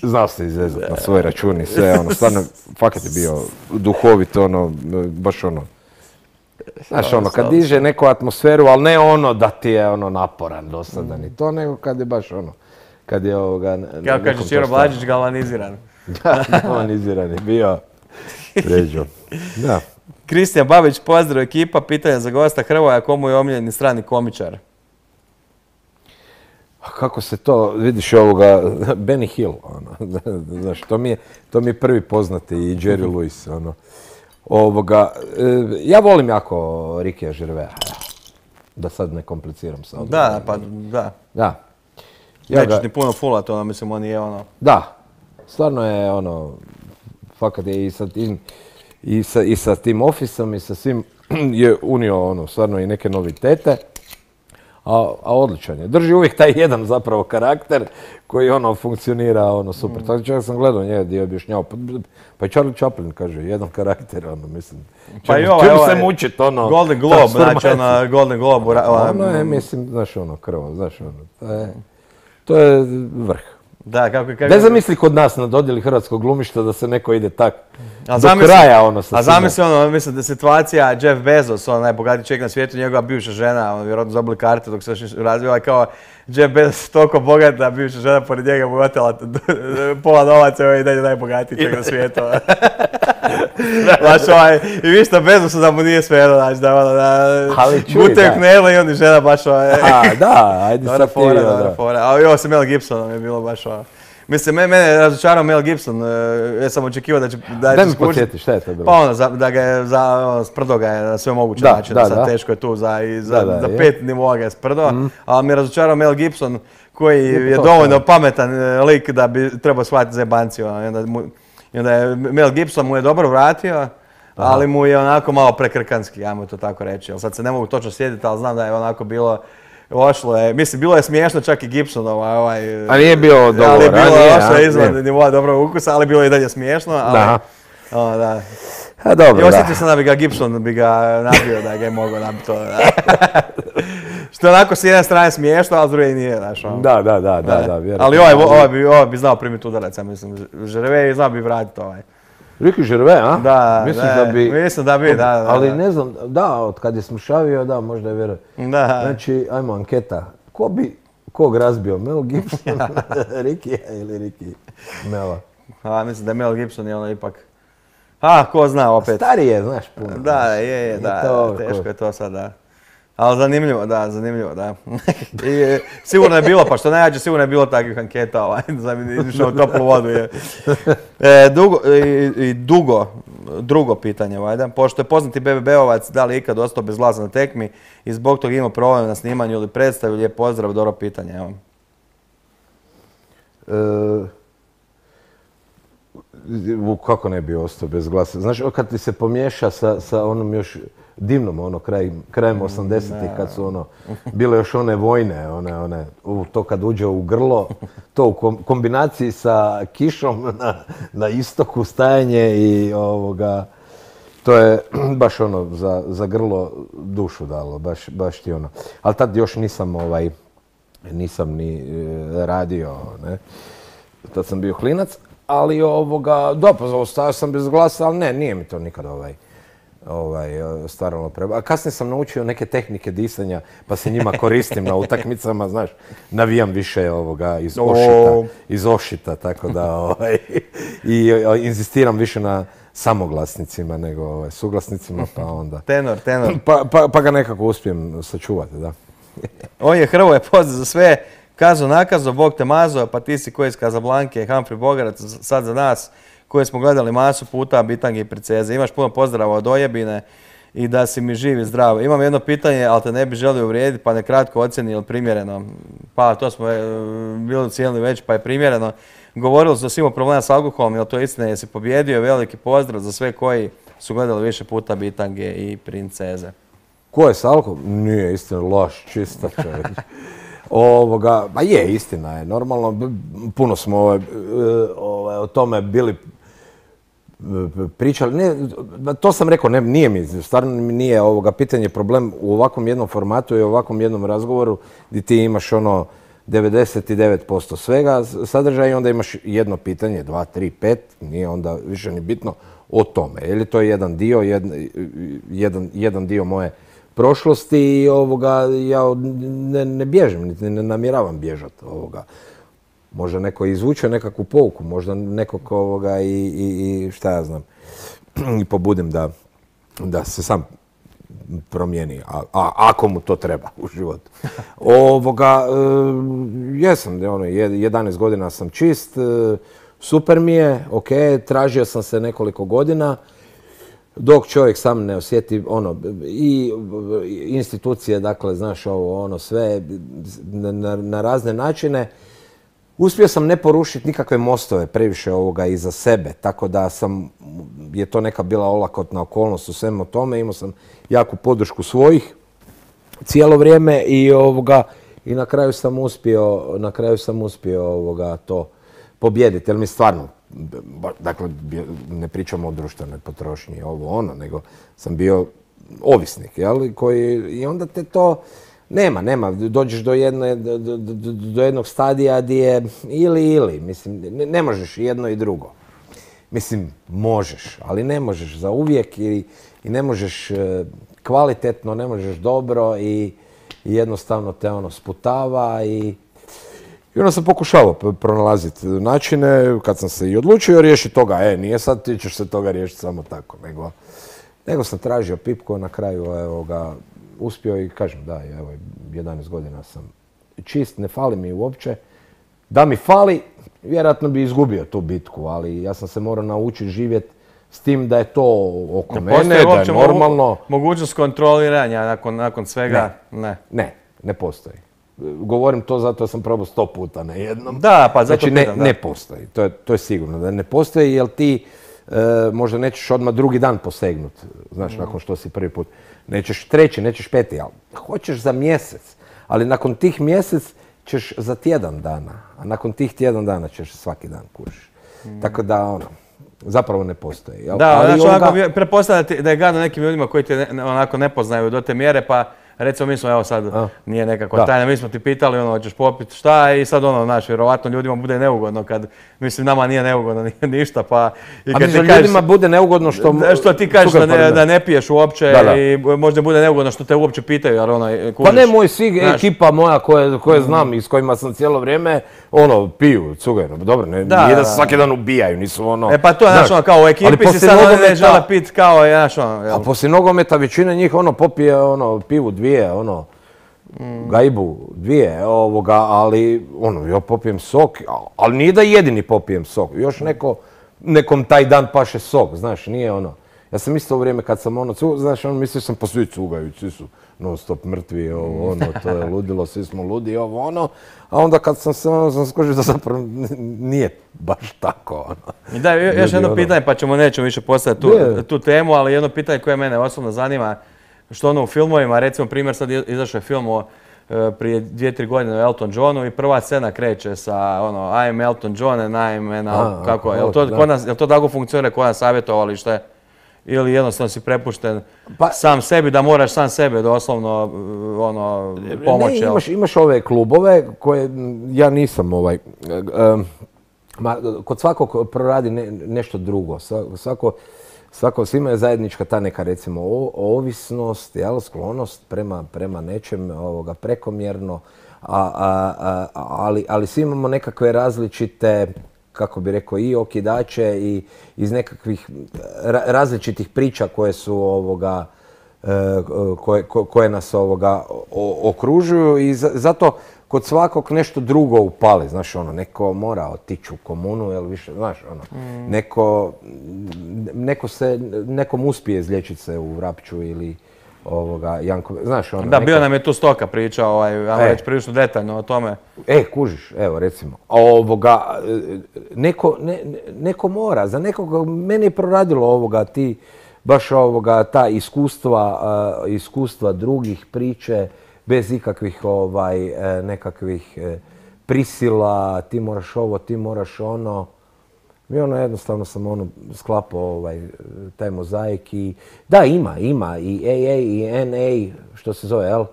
Znao se izvezati na svoj račun i sve, stvarno, fakat je bio duhovit, baš znaš, kad diže neku atmosferu, ali ne da ti je naporan, dosadan i to, nego kad je baš kad je kako kaže Čiro Blažić, galvaniziran. Da, galvaniziran je bio Pređo. Da. Kristijan Babić, pozdrav ekipa, pitanja za gosta Hrvoja, komu je omiljeni strani komičar? Kako se to, vidiš Benny Hill, znaš, to mi je prvi poznati i Jerry Lewis, ja volim jako Rikija Žervea. Da sad ne kompliciram sa Da, pa da. Da. Nećeš ni puno fulati, ono, mislim, on je ono... Da, stvarno je ono, fakat je i sa tim Office-om i sa svim je unio ono, stvarno i neke novitete, a odličan je. Drži uvijek taj jedan zapravo karakter koji ono funkcionira ono super. Tako čak sam gledao njega gdje je objašnjavao, pa i Charlie Chaplin kaže, jedan karakter, ono, mislim, Pa i čemu se mučit, ono... Golden Globe, znači ono, Golden Globe... Ono je, mislim, znaš ono, krvo, znaš ono, to je vrh. Da, kako... Ne zamisli kod nas na dodjeli hrvatskog glumišta da se neko ide tak do zamisli, kraja ono sa A zamisli ono, mislim da situacija Jeff Bezos, on najbogatiji čovjek na svijetu, njegova bivša žena, on vjerojatno zabili karte dok se još razvila, kao Jeff Bezos toliko bogat da bivša žena pored njega mu otela pola novaca i on je dalje najbogatiji čovjek na svijetu. Baš ovaj, i vi što Bezosu da mu nije sve znači da ono, gutaju knele i on i žena baš ovaj... Da, ajde sad ti, dobra fora. A ovo sa Mel Gibsonom je bilo baš ovo. Mislim, mene je razočarao Mel Gibson, ja sam očekivao da će skušiti. Daj mi podsjeti, šta je to bilo? Pa ono, da ga je, sprdo ga je na sve moguće načine, sad teško je tu za 5 nivoa ga je sprdo, ali mi je razočarao Mel Gibson koji je dovoljno pametan lik da bi trebao shvatiti za jebanciju. I onda je Mel Gibson mu je dobro vratio, ali mu je onako malo prekrkanski, ajmo to tako reći. Sad se ne mogu točno sjediti, ali znam da je onako bilo... Ošlo je, mislim, bilo je smiješno čak i Gibsonova ovaj... A nije bilo dobro ranije, ali je bilo ošlo izvan nivoa dobrog ukusa, ali bilo je i dalje smiješno, ali... Da. A dobro, i osjetio sam da bi ga Gibson nabio, da ga je mogao nabiti to. Što je onako s jedne strane smiješno, a s druge nije, znaš. Da, vjerojatno. Ali ovaj bi znao primiti udarac, ja mislim, Žerve znao bi vratiti ovaj. Ricky Gervais, a? Da, mislim da bi, da. Ali ne znam, da, od kad je smršavio, da, možda je vjerojatno. Da. Znači, ajmo anketa. Ko bi kog razbio? Mel Gibson, Ricky ili Ricky Mela? Mislim da je Mel Gibson je ono ipak... ko zna opet. Stariji je, znaš, puno. Da, teško je to sad, da. Ali zanimljivo, da. I sigurno je bilo, pa što najjače, sigurno je bilo takvih anketa, da mi išao u toplu vodu. Drugo pitanje, valjda. Pošto je poznati BBB-ovac, da li je ikad ostao bez glasa na tekmi i zbog toga imao problem na snimanju ili predstavi, lijep pozdrav, dobro pitanje, evo. Kako ne bi ostao bez glasa? Znaš, kad ti se pomiješa sa onom još divnom, ono, krajem 80-ih, kad su ono, bile još one vojne, to kad uđe u grlo, to u kombinaciji sa kišom na istoku stajanje i to je baš ono, za grlo dušu dalo, baš ti ono. Ali tad još nisam ni radio, ne. Tad sam bio klinac, ali ostao sam bez glasa, ali ne, nije mi to nikad stvarno treba. A kasnije sam naučio neke tehnike disanja, pa se njima koristim na utakmicama, znaš, navijam više iz ošita, tako da, i inzistiram više na samoglasnicima nego suglasnicima, pa onda... Tenor. Pa ga nekako uspijem sačuvati, da. On je Hrvoje, pozdrav za sve. Kazo nakazo, Bog te mazo, pa ti si koji iz Kazablanke, Humphrey Bogarac, sad za nas, koje smo gledali masu puta, bitange i princeze. Imaš puno pozdrava od Ojebine i da si mi živ i zdrav. Imam jedno pitanje, ali te ne bi želio uvrijediti, pa nekratko ocjeni ili primjereno. Pa to smo bili ocijenili već, pa je primjereno. Govorili su o svima problema s alkoholom, jel to istina, jesi pobjedio, veliki pozdrav za sve koji su gledali više puta bitange i princeze. Ko je s alkoholom? Nije istina, loš, čista čovjek. Pa je, istina je, normalno, puno smo o tome bili pričali, to sam rekao, nije mi, stvarno mi nije pitanje problem u ovakvom jednom formatu i ovakvom jednom razgovoru gdje ti imaš 99% svega sadržaja i onda imaš jedno pitanje, 2, 3, 5, nije onda više ni bitno o tome. Je li to jedan dio, jedan dio moje prošlosti i ja ne bježim, niti ne namjeravam bježati ovoga. Možda neko izvuče nekakvu pouku, možda nekog i šta ja znam, i pobudim da se sam promijeni, ako mu to treba u životu. Jesam, 11 godina sam čist, super mi je, ok, tražio sam se nekoliko godina, dok čovjek sam ne osjeti ono, i institucije, dakle, znaš ovo, ono, sve na razne načine. Uspio sam ne porušiti nikakve mostove previše ovoga iza sebe, tako da je to neka bila olakotna okolnost u svemu tome. Imao sam jaku podršku svojih cijelo vrijeme i na kraju sam uspio to pobijediti. Jer mi stvarno, dakle, ne pričamo o društvenoj potrošnji, ovo ono, nego sam bio ovisnik, jel? I onda te to nema. Dođeš do jednog stadija gdje je ili. Mislim, ne možeš jedno i drugo. Mislim, možeš, ali ne možeš za uvijek i ne možeš kvalitetno, ne možeš dobro i jednostavno te ono sputava i onda sam pokušavao pronalaziti načine kad sam se i odlučio riješiti toga. Nije sad ti ćeš se toga riješiti samo tako, nego sam tražio pipku, na kraju uspio i kažem da, evo, 11 godina sam čist, ne fali mi uopće. Da mi fali, vjerojatno bi izgubio tu bitku, ali ja sam se morao naučiti živjeti s tim da je to oko mene, da je normalno. Mogućnost kontroliranja nakon svega? Ne postoji. Govorim to zato da sam probao 100 puta na jednom. Da, pa zato znači, ne postoji. To je sigurno da ne postoji, jer ti možda nećeš odmah drugi dan posegnuti, znaš, nakon što si prvi put. Nećeš treći, nećeš peti, ali hoćeš za mjesec. Ali nakon tih mjesec ćeš za tjedan dana, a nakon tih tjedan dana ćeš svaki dan kužiš. Tako da, zapravo ne postoji. Jel? Da, ali znači onako pretpostavljate da je gadno nekim ljudima koji te onako ne poznaju do te mjere, pa recimo mi smo, evo sad, nije nekakva tajna, mi smo ti pitali, hoćeš popiti šta i sad znaš, vjerovatno ljudima bude neugodno kad, mislim, nama nije neugodno ništa, pa... A mislim, ljudima bude neugodno što ti kažeš da ne piješ uopće i možda bude neugodno što te uopće pitaju, jer kužiš. Pa ne, ekipa moja koje znam i s kojima sam cijelo vrijeme, piju, cugaju, dobro, nije da se svaki dan ubijaju, nisu pa to je, znaš, kao u ekipi si sad ne žele pit kao, znaš, A poslije nogometa većina njih, popije, pivu dvije, gajbu, dvije, ali, ja popijem sok, ali nije da jedini popijem sok, još nekom taj dan paše sok, znaš, nije Ja sam isto u vrijeme kad sam znaš, mislio sam pa svi cugaju, svi su non stop mrtvi, to je ludilo, svi smo ludi, a onda kad sam skožio da zapravo nije baš tako, I da, još jedno pitanje, pa nećemo više postaviti tu temu, ali jedno pitanje koje mene osobno zanima, što u filmovima, recimo primjer sad izašao je film prije 2-3 godine o Elton Johnu i prva scena kreće sa I am Elton John and I am, kako je, jel to tako funkcionira kod nas savjetovalište? Ili jednostavno si prepušten sam sebi, da moraš sam sebe doslovno pomoći? Ne, imaš ove klubove koje ja nisam kod svakog proradi nešto drugo. Svima je zajednička ta neka, recimo, ovisnost, sklonost prema nečem prekomjerno, ali svi imamo nekakve različite, kako bi rekao, i okidače i iz nekakvih različitih priča koje su koje nas okružuju i zato kod svakog nešto drugo upali, znaš, neko mora otići u komunu, jel više, znaš, nekom uspije izliječiti se u Vrapču ili Janko, znaš, Da, bio nam je tu Stoka pričao, ajmo reći prilično detaljno o tome. Kužiš, evo, recimo, neko mora, za nekog, meni je proradilo ti, baš ta iskustva drugih, priče, bez ikakvih nekakvih prisila, ti moraš ovo, ti moraš ono. I jednostavno sam sklapao taj mozaik i da, ima i AA i NA, što se zove, jel?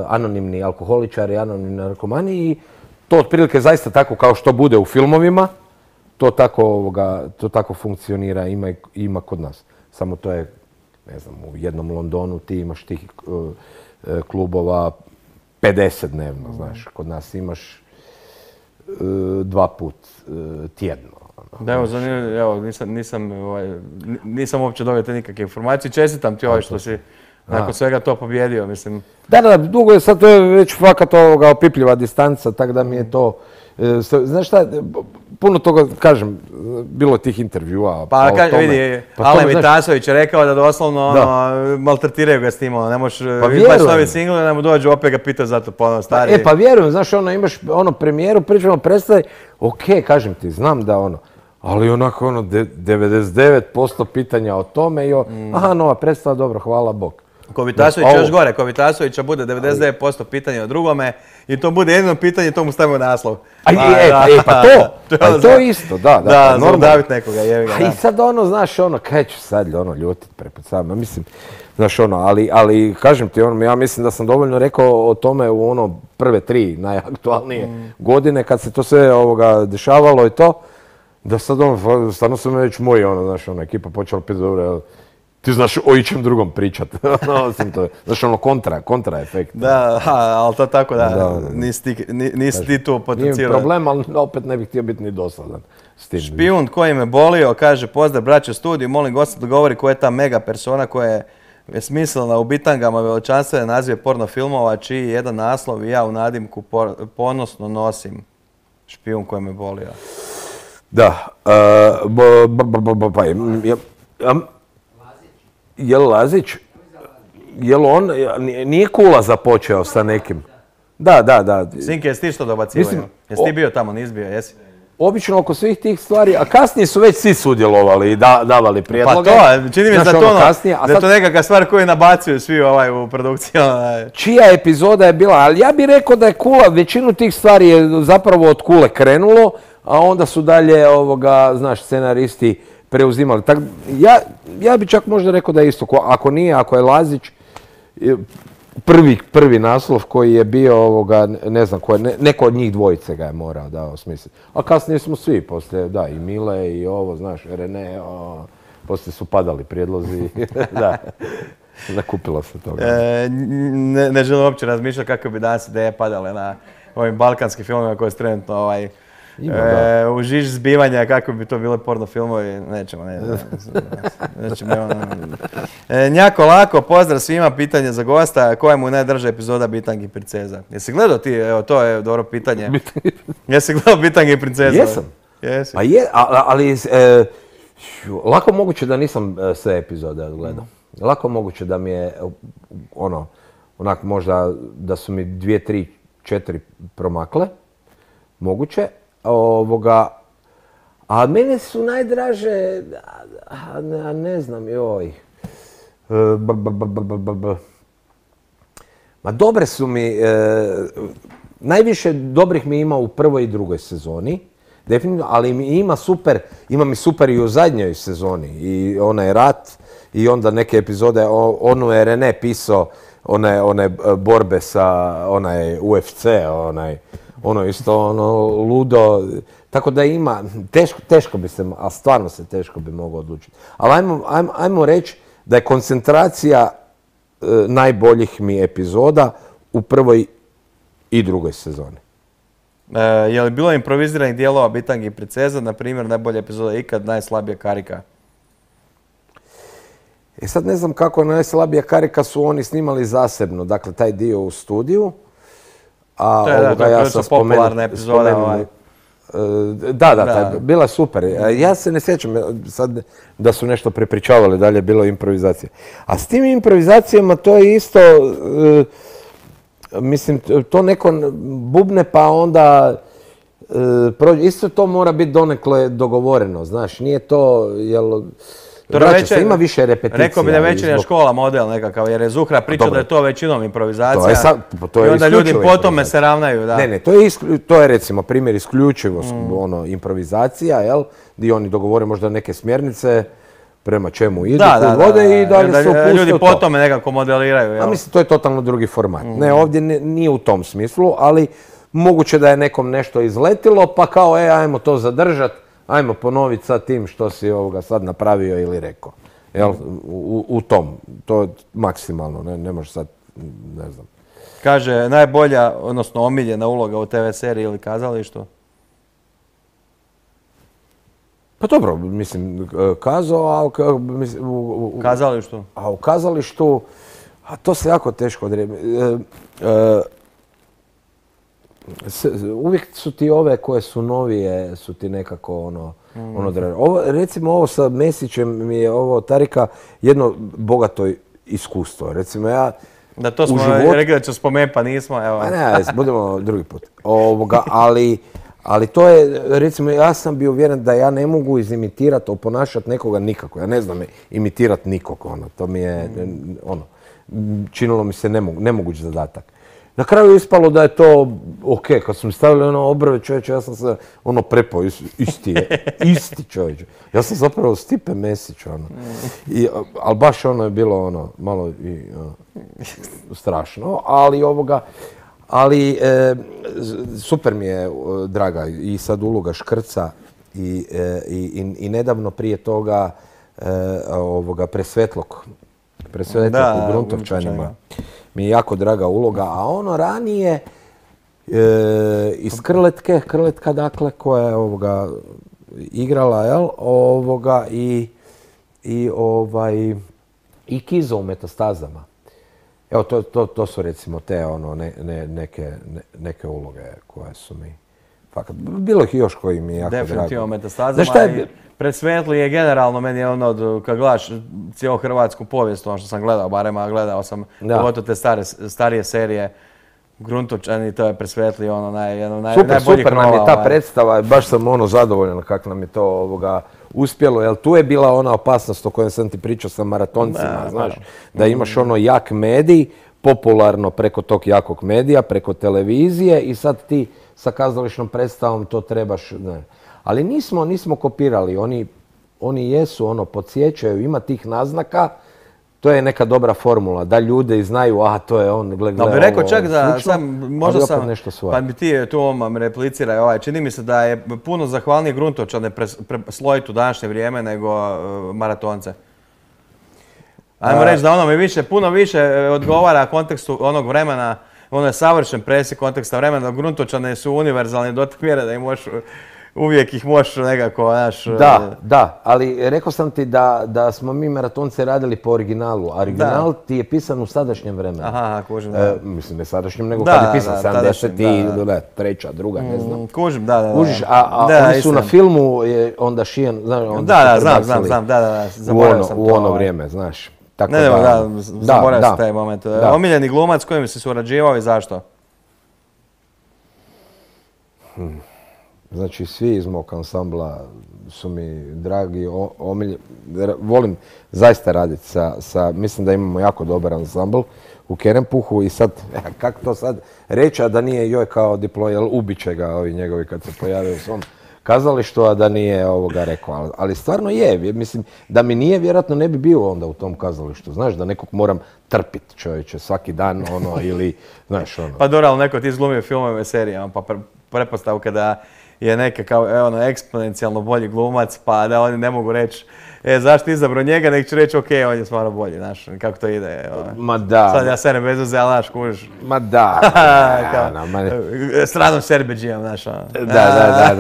Anonimni alkoholičari, anonimni narkomani i to otprilike zaista tako kao što bude u filmovima, to tako funkcionira, ima kod nas. Samo to je, ne znam, u jednom Londonu ti imaš tih klubova 50 dnevno, znaš, kod nas imaš 2 put tjedno. Da, evo, nisam uopće dobio te nikakve informacije. Čestitam ti što si nakon svega to pobjedio, mislim. Da, dugo je, sad to je već fakat opipljiva distanca, tako da mi je to Znaš šta, puno toga, kažem, bilo je tih intervjua. Pa o tome. vidi, Pa Alen tome, znaš, Vitasović je rekao da doslovno Da. maltretiraju ga s tim, ne možeš vjerujem. izbaš novi singl i da mu dođu opet ga pitaju zato ponovno stari. Pa vjerujem, znaš, imaš premijeru, pričamo predstavi, ok, kažem ti, znam da ali onako 99% pitanja o tome i aha, nova predstava, dobro, hvala Bog. Ko Vitasović još gore, ko Vitasovića bude 99% pitanja o drugome i to bude jedino pitanje, to mu stavimo naslov. Pa to isto, da. Da, zaudavit nekoga, jevi ga. I sad znaš, kaj ću sad ljutit prepod sama, mislim, znaš ali kažem ti, ja mislim da sam dovoljno rekao o tome u prve 3 najaktualnije godine, kad se to sve dešavalo i to, da sad stvarno su me već moji, znaš, ekipa počela pitati, dobro, ti znaš o ičem drugom pričat, osim to, znaš, kontra efekt. Da, ali to tako da, nisi ti tu potencirao. Nije problem, ali opet ne bih htio biti ni dosadan s tim. Špijun koji me bolio, kaže, pozdrav braće studiju, molim gosta da govori koja je ta mega persona koja je smislena u bitangama veličanstvene nazive porno filmova, čiji jedan naslov i ja u nadimku ponosno nosim. Špijun koji me bolio. Da, je li Lazić? Je li on, nije Kula započeo sa nekim? Da. Sinke, jesi ti što dobacivaju? Jesi ti bio tamo, nisi bio, jesi? Obično oko svih tih stvari, a kasnije su već svi sudjelovali i davali prijedloge. Pa to, čini mi se da je to nekakva stvar koju nabacuju svi u produkciji. Čija epizoda je bila, ali ja bih rekao da je Kula, većinu tih stvari je zapravo od Kule krenulo, a onda su dalje, znaš, scenaristi preuzimali. Ja bih čak možda rekao da je isto, ako je Lazić, prvi naslov koji je bio, ne znam, neko od njih dvojice ga je morao da osmisliti. A kasnije smo svi, poslije, da, i Mile i znaš, Rene, poslije su padali prijedlozi, da. Nakupilo se toga. Ne želim uopće razmišljati kako bi danas ideje padale na ovim balkanskim filmovima koje su trenutno u žiž zbivanja, kako bi to bile porno filmovi, nećemo. Njako lako, pozdrav svima, pitanje za gosta, koja mu je najdraža epizoda Bitangi princeza? Jesi gledao ti, evo to je dobro pitanje. Jesi gledao Bitangi princeza? Jesam. Jesi. Ali lako moguće da nisam sve epizode odgledao. Lako moguće da mi je onak možda da su mi 2, 3, 4 promakle. Moguće. A mene su najdraže, ne znam, joj. Ma dobre su mi, najviše dobrih mi ima u prvoj i drugoj sezoni, definitivno, ali ima mi super i u zadnjoj sezoni. I onaj rat i onda neke epizode, onu je Rene pisao, one borbe sa onaj UFC, ono isto ludo, tako da ima, teško bi se, a stvarno se teško bi mogao odlučiti. Ali ajmo reći da je koncentracija najboljih mi epizoda u prvoj i drugoj sezoni. Je li bilo improviziranih dijelova Bitangi princeza, na primjer najbolja epizoda ikad, najslabija karika? Sad ne znam kako najslabija karika su oni snimali zasebno, dakle taj dio u studiju. To je popularna epizoda. Da, bila je super. Ja se ne sjećam sad da su nešto prepričavali, dalje je bilo improvizacija. A s tim improvizacijama to je isto, mislim, to neko bubne pa onda, isto to mora biti donekle dogovoreno, znaš, nije to, jel... Ima više repeticija. Rekao bi da je večernja škola model nekakav, jer je Zuhra pričao da je to većinom improvizacija. I onda ljudi po tome se ravnaju. Ne, to je recimo primjer isključivo improvizacija, jel? Gdje oni dogovore možda neke smjernice prema čemu idu, vode i dalje se upuste u to. Ljudi po tome nekako modeliraju, jel? A mislim, to je totalno drugi format. Ne, ovdje nije u tom smislu, ali moguće da je nekom nešto izletilo, pa kao, ajmo to zadržati. Ajmo ponoviti sad tim što si sad napravio ili rekao. Jel? U tom. To je maksimalno. Ne može sad, ne znam. Kaže, najbolja, odnosno omiljena uloga u TV seriji ili kazalištu? Pa dobro, mislim, kazao, u kazalištu? A u kazalištu, a to se jako teško odrebi. uvijek su ti ove koje su novije, su ti nekako ovo, recimo ovo sa Mesićem mi je ovo Tarika jedno bogato iskustvo. Recimo ja Da, to smo rekli da ću spomenuti, pa nismo, evo. Ne, budemo drugi put. Ali to je, recimo, ja sam bio uvjeren da ja ne mogu izimitirati, oponašati nekoga nikako. Ja ne znam imitirati nikog, to mi je, činilo mi se nemoguć zadatak. Na kraju je ispalo da je to ok, kad su mi stavili obrve, čovječe, ja sam se prepao, isti čovječe. Ja sam zapravo Stipe Mesić, ali baš je bilo malo strašno, ali super mi je draga i sad uloga Škrca i nedavno prije toga Presvetlog u Gruntovčanima. Mi je jako draga uloga, a ranije iz Krletka dakle, koja je igrala, jel, i Kizo u Metastazama. Evo, to su recimo te neke uloge koje su mi fakat, bilo ih još koji mi je jako drago. Definitivno Metastazama i Presvetli je generalno meni kad gledaš cijelu hrvatsku povijest, ono što sam gledao, barem gledao sam pogotovo te starije serije, Gruntovčani, to je Presvetli jedno najboljih krova. Super nam je ta predstava, baš sam zadovoljan kako nam je to uspjelo, jer tu je bila ona opasnost o kojoj sam ti pričao sa maratoncima, znaš, da imaš jak medij, popularno preko tog jakog medija, preko televizije i sad ti sa kazališnom predstavom to trebaš, ne. Ali nismo kopirali, oni jesu, podsjećaju, ima tih naznaka, to je neka dobra formula, da ljudi znaju, to je on, gleda ovo, bi rekao čak da sam, možda sam, nešto svoje. Pa mi ti tu ovom repliciraj, čini mi se da je puno zahvalnije Gruntovčane preslojiti u današnje vrijeme nego maratonce. Ajmo reći da puno više odgovara kontekstu onog vremena, je savršen presjek konteksta vremena, da Gruntovčane su univerzalni do te mjere da uvijek ih možeš nekako, znaš... Da, ali rekao sam ti da smo mi maratonce radili po originalu, a original ti je pisan u sadašnjem vremenu. Aha, kužim, mislim, ne sadašnjem, nego kad je pisan 73. druga, ne znam. Kužim, da. Kužiš, a oni su na filmu onda šijen, znaš, onda su prebacili zaboravio sam to. U ono vrijeme, znaš. Zaboravio sam taj moment. Omiljeni glumac s kojim si surađivao i zašto? Znači, svi iz mog ansambla su mi dragi, volim zaista raditi mislim da imamo jako dobar ansambl u Kerempuhu i sad, kako to sad reći, a da nije joj kao diplo, ubit će ga ovi njegovi kad se pojave u svom kazalištu, a da nije rekao. Ali stvarno je, mislim, da mi nije, vjerojatno ne bi bio onda u tom kazalištu, znaš, da nekog moram trpiti čovječe svaki dan, ili, znaš, Pa dobro, ali neko ti izglumio filmove, serijama, pa pretpostavka da je neka kao eksponencijalno bolji glumac, pa da oni ne mogu reći zašto izabrao njega, nek ću reći ok, on je stvarno bolji, znaš, kako to ide. Ma da. Sad ja serem bez uze, ali znaš, kužiš. Ma da. Stranom serbeđijom, znaš. Da.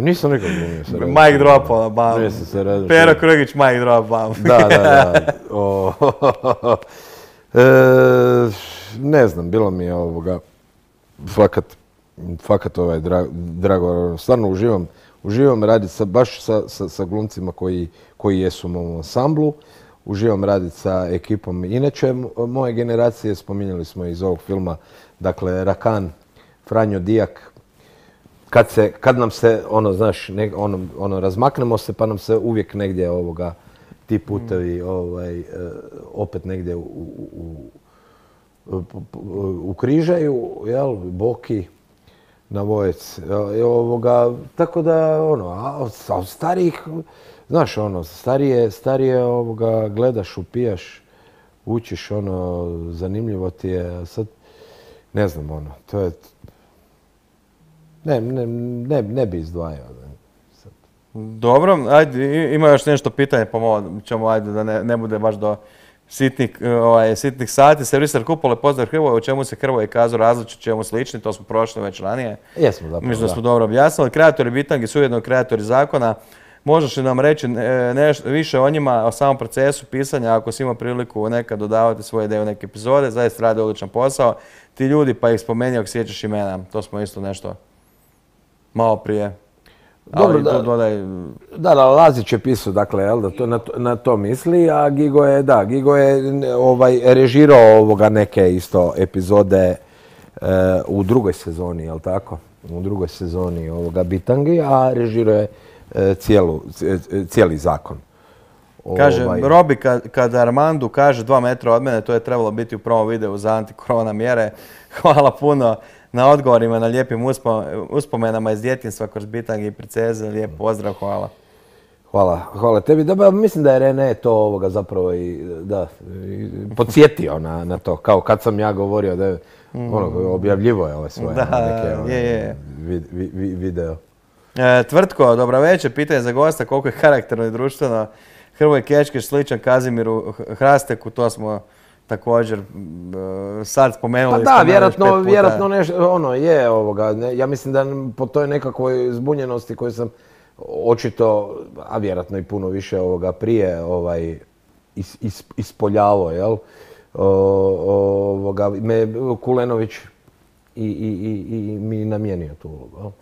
Nisam nikog glumio. Mike Drop, bam. Pero Krugić, Mike Drop, bam. Da. Ne znam, bilo mi je fakat drago, stvarno uživam raditi baš sa glumcima koji jesu u mom ansamblu, uživam raditi sa ekipom. Inače, moje generacije, spominjali smo iz ovog filma, dakle, Rakan, Franjo Dijak, kad nam se, znaš, razmaknemo se pa nam se uvijek negdje ti putevi opet negdje ukrižaju, jel, Boki, na Vojec. Tako da, a od starijih, znaš, starije gledaš, upijaš, učiš, zanimljivo ti je, sad, ne znam, to je, ne bi izdvajao. Dobro, ajde, ima još nešto pitanje, pa ćemo, ajde, da ne bude baš do sitnih sati. Servisar Kupole, pozdrav Hrvoje, o čemu se Hrvoje kazao različito, čemu slični, to smo prošli već ranije. Jesmo zapravo, mislim da smo dobro objasnili. Kreatori bitangi su ujedno kreatori zakona. možeš li nam reći nešto više o njima, o samom procesu pisanja, ako si imao priliku nekad dodavati svoje ideje u neke epizode, zaista rade odličan posao. Ti ljudi, pa ih spomeni ako sjećaš imena, to smo isto nešto malo prije. Dobro, Ali tu dodaj... Da, Lazić je pisao, dakle, jel, da to na to misli, a Gigo je režirao neke isto epizode u drugoj sezoni, jel tako? U drugoj sezoni Bitangi, a režirao je cijeli zakon. Kaže, Robi, kada Armandu kaže 2 metra od mene, to je trebalo biti u prvom videu za antikorona mjere. Hvala puno na odgovorima, na lijepim uspomenama iz djetinjstva kroz Bitangi i Preceze. Lijep pozdrav, hvala. Hvala tebi. Da, mislim da je Rene to zapravo podsjetio na to, kao kad sam ja govorio da je objavljivo je ove svoje neke video. Tvrtko, dobro večer, pitanje za gosta, koliko je karakterno i društveno Hrvoje Kečkeš sličan Kazimiru Hrasteku, to smo također sad spomenuli. Pa da, vjerojatno nešto, ja mislim da po toj nekakvoj zbunjenosti koju sam očito, a vjerojatno i puno više prije ispoljavao, jel? Me Kulenović i mi namijenio tu ulogu.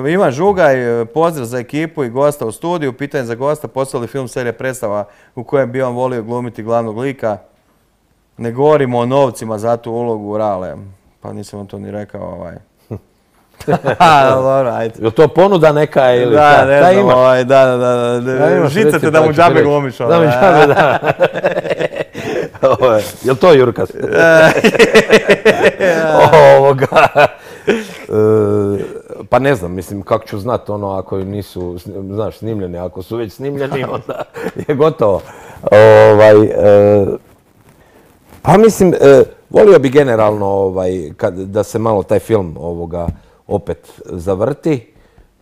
Ivan Žugaj, pozdrav za ekipu i gosta u studiju. Pitanje za gosta, poslali film serija predstava u kojem bi on volio glumiti glavnog lika. Ne govorimo o novcima za tu ulogu Rale. Pa nisam vam to ni rekao. Dobro, ajde. Je li to ponuda neka ili da, ne znam, da. Žicate da mu džabe glumiš. Da mu džabe, da. Je li to Jurkas? Pa ne znam, mislim, kako ću znat ako nisu, znaš, snimljeni. Ako su već snimljeni, onda je gotovo. Pa mislim, volio bi generalno da se malo taj film opet zavrti.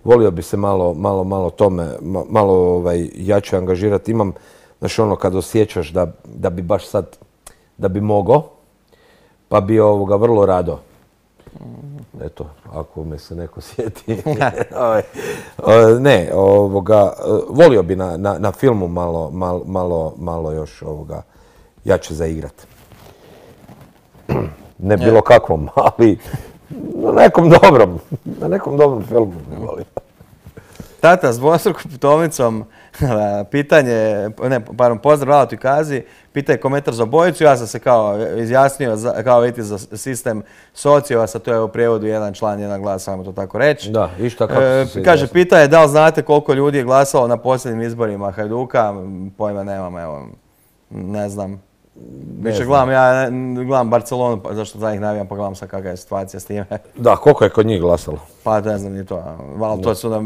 Volio bi se malo tome, malo jače angažirati. Imam, znaš, kad osjećaš da bi baš sad, da bi mogao, pa bi vrlo rado. Eto, ako me se neko sjeti. Ne, volio bi na filmu malo još jače zaigrat. Ne bilo kakvom, ali na nekom dobrom filmu ne volim. Tata s dvostrukom putovnicom, pitanje, pozdrav Rala Kazi, pitanje komentar za obojicu, ja sam se kao izjasnio, kao vidite za sistem Sociovasa, to je u prijevodu jedan član, jedan glas, samo to tako reći. Da, išta kako se izjasnio. Kaže, pitanje da li znate koliko ljudi je glasalo na posljednjim izborima Hajduka, pojma nemam, evo, ne znam. Više gledam Barcelonu, zašto za njih navijam, pa gledam sad kakva je situacija s time. Da, koliko je kod njih glasalo? Pa ne znam ni to, ali to su nam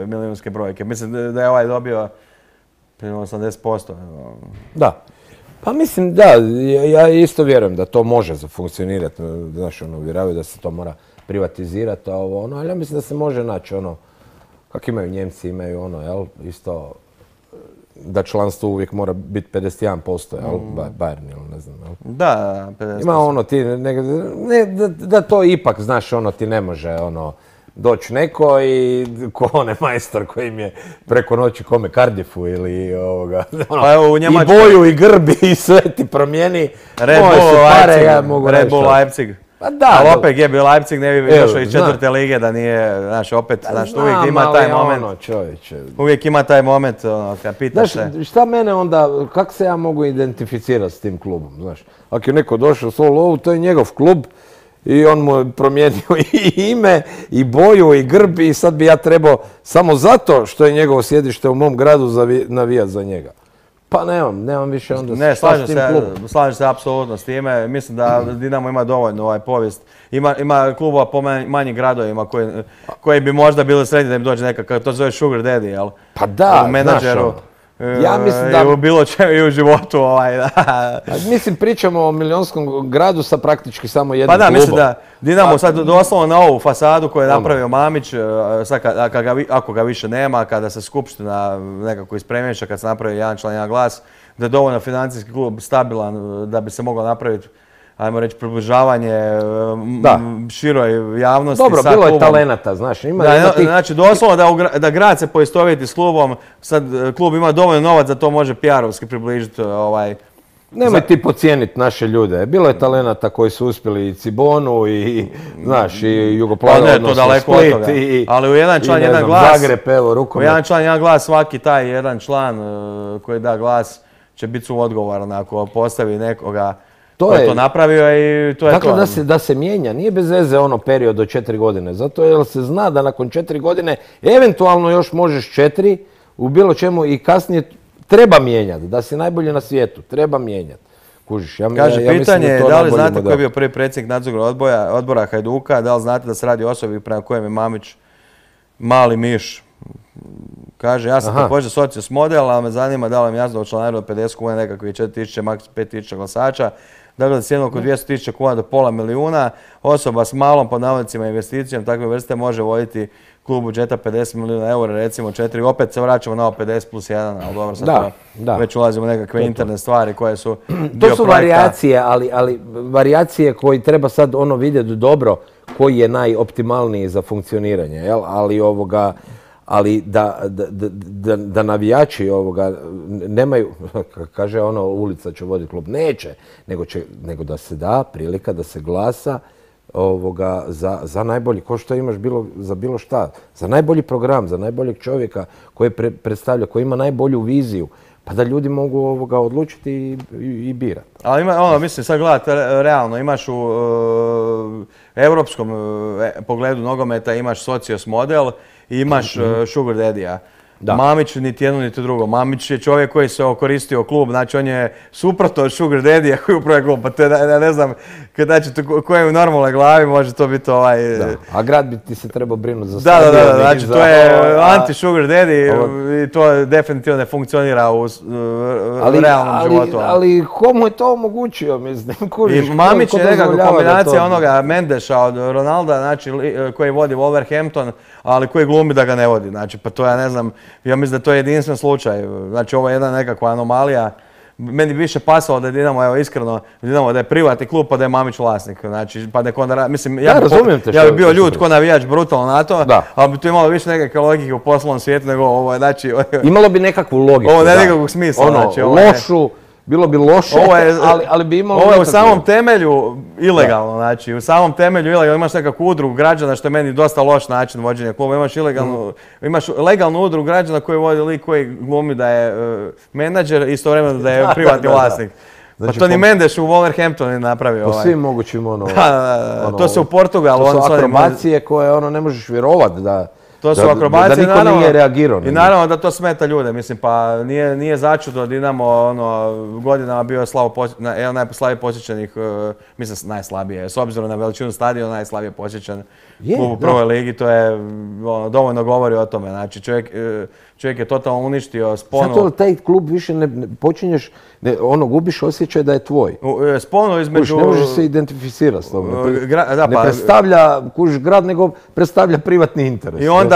milijunske brojke. Mislim da je ovaj dobio 80%. Da. Pa mislim, da, ja isto vjerujem da to može funkcionirati. Znaš, uvjeravaju da se to mora privatizirati, ali ja mislim da se može naći kako imaju Njemci, imaju jel, isto, da članstvo uvijek mora biti 51%, jel, Bayern ili ne znam, jel. Da, 50%. Ima da to ipak, znaš, ti ne može, doći neko i ko onaj majstor koji im je preko noći kome Cardiffu ili pa evo, u Njemačkoj, i boju i grbi i sve ti promijeni. Red Bull Leipzig. Pa da, ali opet je bio Leipzig, ne bi došao iz 4. lige da nije, znaš, opet, znaš, uvijek ima taj moment. Uvijek ima taj moment, kad pitaš se. Znaš, šta mene onda, kako se ja mogu identificirati s tim klubom, znaš? Ako je neko došao s lovu, to je njegov klub i on mu je promijenio i ime, i boju, i grb i sad bi ja trebao samo zato što je njegovo sjedište u mom gradu navijati za njega. Pa nemam više onda ne, slažem se apsolutno s time. Mislim da Dinamo ima dovoljno povijest. Ima klubova po manjim gradovima koji bi možda bili srednji da im dođe nekakav, to se zove sugar daddy, jel? Pa da, u menadžeru. Ja mislim da... I u bilo čemu i u životu. Da. Mislim, pričamo o milionskom gradu sa praktički samo jednim klubom. Pa da, mislim da Dinamo sad doslovno na ovu fasadu koju je napravio Mamić, ako ga više nema, kada se skupština nekako ispremješa, kad se napravi jedan član, jedan glas, da je dovoljno financijski klub stabilan da bi se moglo napraviti ajmo reći, približavanje široj javnosti. Dobro, bilo je talenata, znaš. Znači, doslovno da grad se poistovjeti s klubom, sad klub ima dovoljno novac da to može PR-ovski približiti. Nemoj ti podcijeniti naše ljude. Bilo je talenata koji su uspjeli i Cibonu i, znaš, i Jugoplavu, odnosno Split ali u jedan član, jedan glas, Zagreb, evo, rukomet. U jedan član, jedan glas, svaki taj jedan član koji da glas će biti suodgovoran ako postavi nekoga ko je to napravio i to je to. Dakle, da se mijenja, nije bez veze ono period od 4 godine, zato jer se zna da nakon 4 godine eventualno još možeš 4 u bilo čemu i kasnije treba mijenjati, da si najbolji na svijetu, treba mijenjati. Kužiš, Kaže, pitanje je da li znate koji je bio prvi predsjednik nadzornog odbora Hajduka, da li znate da se radi o osobi prema kojem je Mamić mali miš. Kaže, ja sam također socios model, ali me zanima da li vam jasno da u članaru od 50 kuna nekakvih 4.000, maks 5.000 glasača. Dakle, da cijenu oko 200.000 kuna do pola milijuna, osoba s malom pod navodnicima investicijom takve vrste može voditi klub budžeta 50 milijuna eura, recimo 4, opet se vraćamo na ovo 50 plus 1, ali dobro, sad već ulazimo u nekakve interne stvari koje su dio to su varijacije, ali varijacije koji treba sad ono vidjeti dobro koji je najoptimalniji za funkcioniranje, jel? Ali da navijači nemaju, kaže ono, ulica će voditi klub, neće, nego da se da prilika da se glasa za najbolji, ko što imaš za bilo šta, za najbolji program, za najboljeg čovjeka koji predstavlja, koji ima najbolju viziju, pa da ljudi mogu odlučiti i birati. Ali mislim, sad gledati realno, imaš u europskom pogledu nogometa, imaš socios model i imaš sugar daddy-a. Mamić niti jedno niti drugo. Mamić je čovjek koji se okoristio klub, znači on je suprotno od sugar daddy-a koji upravlja klub. Pa to je, ne znam, kojem u normalnoj glavi može to biti A grad bi ti se trebao brinuti za stadion. Znači to je anti-sugar daddy i to definitivno ne funkcionira u realnom životu. Ali komu je to omogućio, mislim? I Mamić je nekako kombinacija onoga Mendeša od Ronalda, znači koji vodi Wolverhampton, ali koji glumi da ga ne vodi. Znači, pa to ja ne znam, ja mislim da to je jedinstven slučaj. Znači, ovo je jedna nekakva anomalija. Meni bi više pasalo da je Dinamo, evo iskreno, Dinamo da je privatni klub pa da je Mamić vlasnik. Znači, pa nek onda, mislim, ja bi bio ljud ko navijač brutalno na to, ali bi tu imalo više nekakve logike u poslovnom svijetu nego ovo, znači... Imalo bi nekakvu logiku, ovo ne nekakvog smisla, znači... Lošu, bilo bi loše, ali bi imalo... Ovo je u samom temelju ilegalno, znači u samom temelju ilegalno imaš nekakvu udrugu građana što je meni dosta loš način vođenja kluba. Imaš legalnu udrugu građana koji vodi lik koji glumi da je menadžer i istovremeno da je privatni vlasnik. Pa to ni Mendes u Wolverhamptonu je napravio. Po svim mogućim to se u Portugalu... To su akrobacije koje ne možeš vjerovati da... To su akrobacije, da niko nije reagirao. I naravno da to smeta ljude, mislim, pa nije začudo Dinamo godinama bio jedan najslabije posjećenih, mislim najslabije, s obzirom na veličinu stadiona, najslabije posjećen klub u prvoj ligi, to je dovoljno govori o tome, znači čovjek je totalno uništio sponu. Zato taj klub više ne počinješ, gubiš osjećaj da je tvoj. Sponu između... Ne možeš se identificirati s tobom. Ne predstavlja grad, nego predstavlja privatni interes. I onda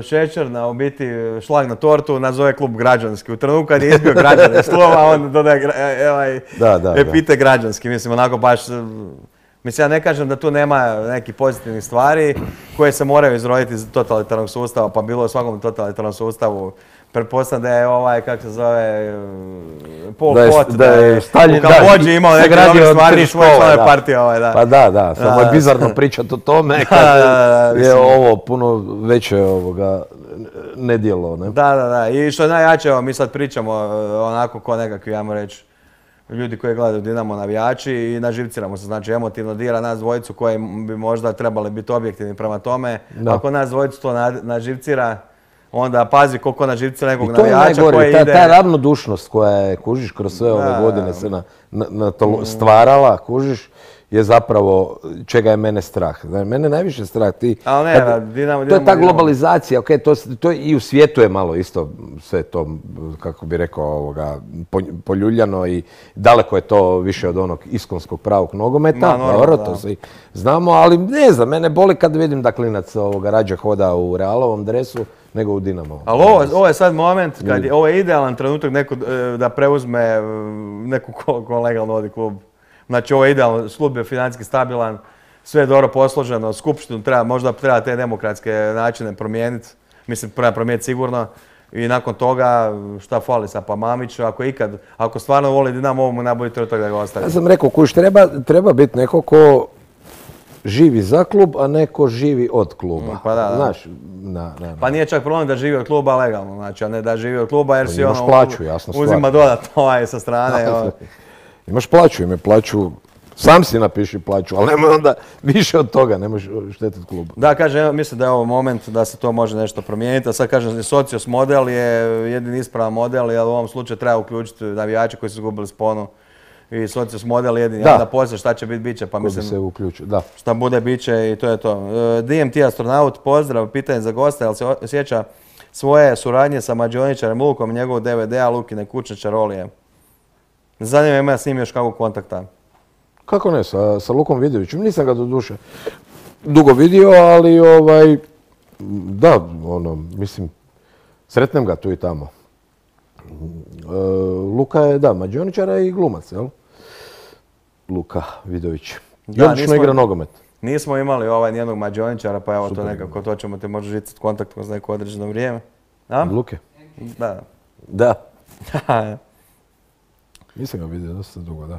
šećerna u biti šlag na tortu nazove klub građanski. U trenutku kad je izbio građane slova, onda dodaje epite građanski. Mislim, onako baš... Mislim, ja ne kažem da tu nema nekih pozitivnih stvari koje se moraju izroditi iz totalitarnog sustava, pa bilo u svakom totalitarnom sustavu. Pretpostavljam da je kako se zove, Pol Pot, da je u Kambođi imao neke dobre stvari za svoje članove partije. Pa da, samo je bizarno pričati o tome kad je ovo puno veće nedjelo. Da. I što je najjače, mi sad pričamo onako ko nekakvi, ajmo reći, ljudi koji gledaju Dinamo navijači i naživciramo se, znači emotivno dira nas dvojicu koji bi možda trebali biti objektivni prema tome. Ako nas dvojicu to naživcira, onda pazi koliko naživcira nekog navijača koji ide... Ta ravnodušnost koja je, kužiš, kroz sve ove godine se stvarala, kužiš, je zapravo čega je mene strah. Mene najviše strah. To je ta globalizacija, to i u svijetu je malo isto sve to, kako bi rekao, poljuljano i daleko je to više od onog iskonskog pravog nogometa. Dobro, to svi znamo, ali ne znam, mene boli kad vidim da klinac rađe hoda u Realovom dresu nego u Dinamovom. Ali ovo je sad moment kad ovo je idealan trenutak da preuzme neku ko legalno vodi klub. Znači ovo je idealno, klub je financijski stabilan, sve je dobro posloženo, skupštinu možda treba te demokratske načine promijeniti, mislim promijeniti sigurno. I nakon toga, šta fali sa Mamiću, ako stvarno voli Dinamo, ovo mu najbolji trenutak da ga ostavi. Ja sam rekao, treba biti neko ko živi za klub, a neko živi od kluba. Pa da. Znaš, Pa nije čak problem da živi od kluba legalno, znači, a ne da živi od kluba jer si imaš plaću, jasno stvar. Uzima dodatno sa strane. Imaš plaću, ime plaću, sam si napiši plaću, ali nemoj onda više od toga, nemoj štetiti klubu. Da, kažem, mislim da je ovo moment da se to može nešto promijeniti, a sad kažem, socios model je jedini ispravan model, ali u ovom slučaju treba uključiti navijače koji su izgubili sponu. I socios model jedini, da poslije šta će biti, bit će, pa mislim, se uključu, da. Šta bude, bit će i to je to. DMT astronaut, pozdrav, pitanje za gosta, jel se sjeća svoje suradnje sa mađioničarem Lukom, njegovog DVD-a Lukine kućne čarolije? Zanima ima s njim još kakvog kontakta. Kako ne, sa Lukom Vidovićem, nisam ga do duše dugo vidio, ali da, mislim, sretnem ga tu i tamo. Luka je, da, mađioničara i glumac, jel? Luka Vidović. I odlično igra nogomet. Nismo imali nijednog mađioničara, pa evo to nekako, to ćemo te možda žicati kontakt kroz neko određeno vrijeme. Luke? Da. Da. Nisam ga vidio dosta dugo, da.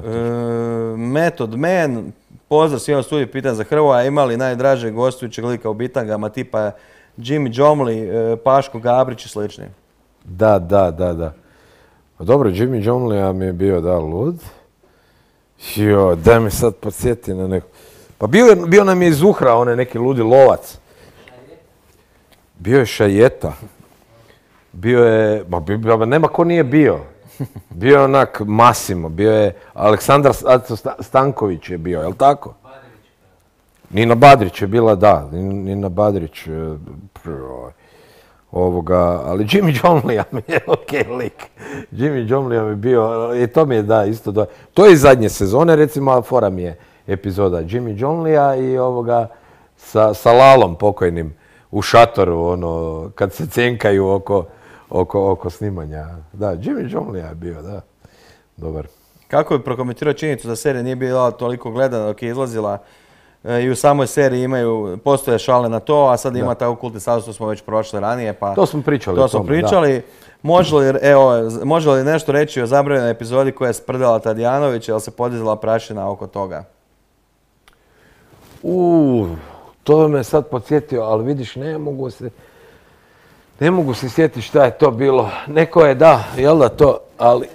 Method Man, pozdrav svima u studiju, pitanje za Hrvoja, imali najdražeg gostujućeg lika u bitangama tipa Jimmy Jomli, Paško Gabrić i slični? Da. Pa dobro, Jimmy Jomli mi je bio lud. Daj me sad podsjeti na neko. Pa bio nam je iz Uhra, onaj neki ludi lovac. Bio je Šajeta. Bio je, nema ko nije bio. Bio je onak Masimo, bio je Aleksandar Stanković je bio, jel tako? Nina Badrić je bila, da, Nina Badrić. Ali Jimmy Jomlija mi je okej lik. Jimmy Jomlija mi je bio, i to mi je isto. To je iz zadnje sezone, recimo, fora mi je epizoda Jimmy Jomlija i sa Lalom pokojnim u šatoru, kad se cenkaju oko snimanja. Da, Jimmy Jomlija je bio, da. Dobar. Kako bi prokomentirao činjenicu da serija nije bila toliko gledana dok je izlazila i u samoj seriji postoje šale na to, a sad ima taj okultni status, to smo već prošli ranije, pa... To smo pričali. Može li nešto reći o zabranjenoj epizodi koja je sprdala Tadijanović, jel se podizala prašina oko toga? To me sad podsjetio, ali vidiš, ne mogu se sjetiti šta je to bilo. Neko je, jel da to, ali...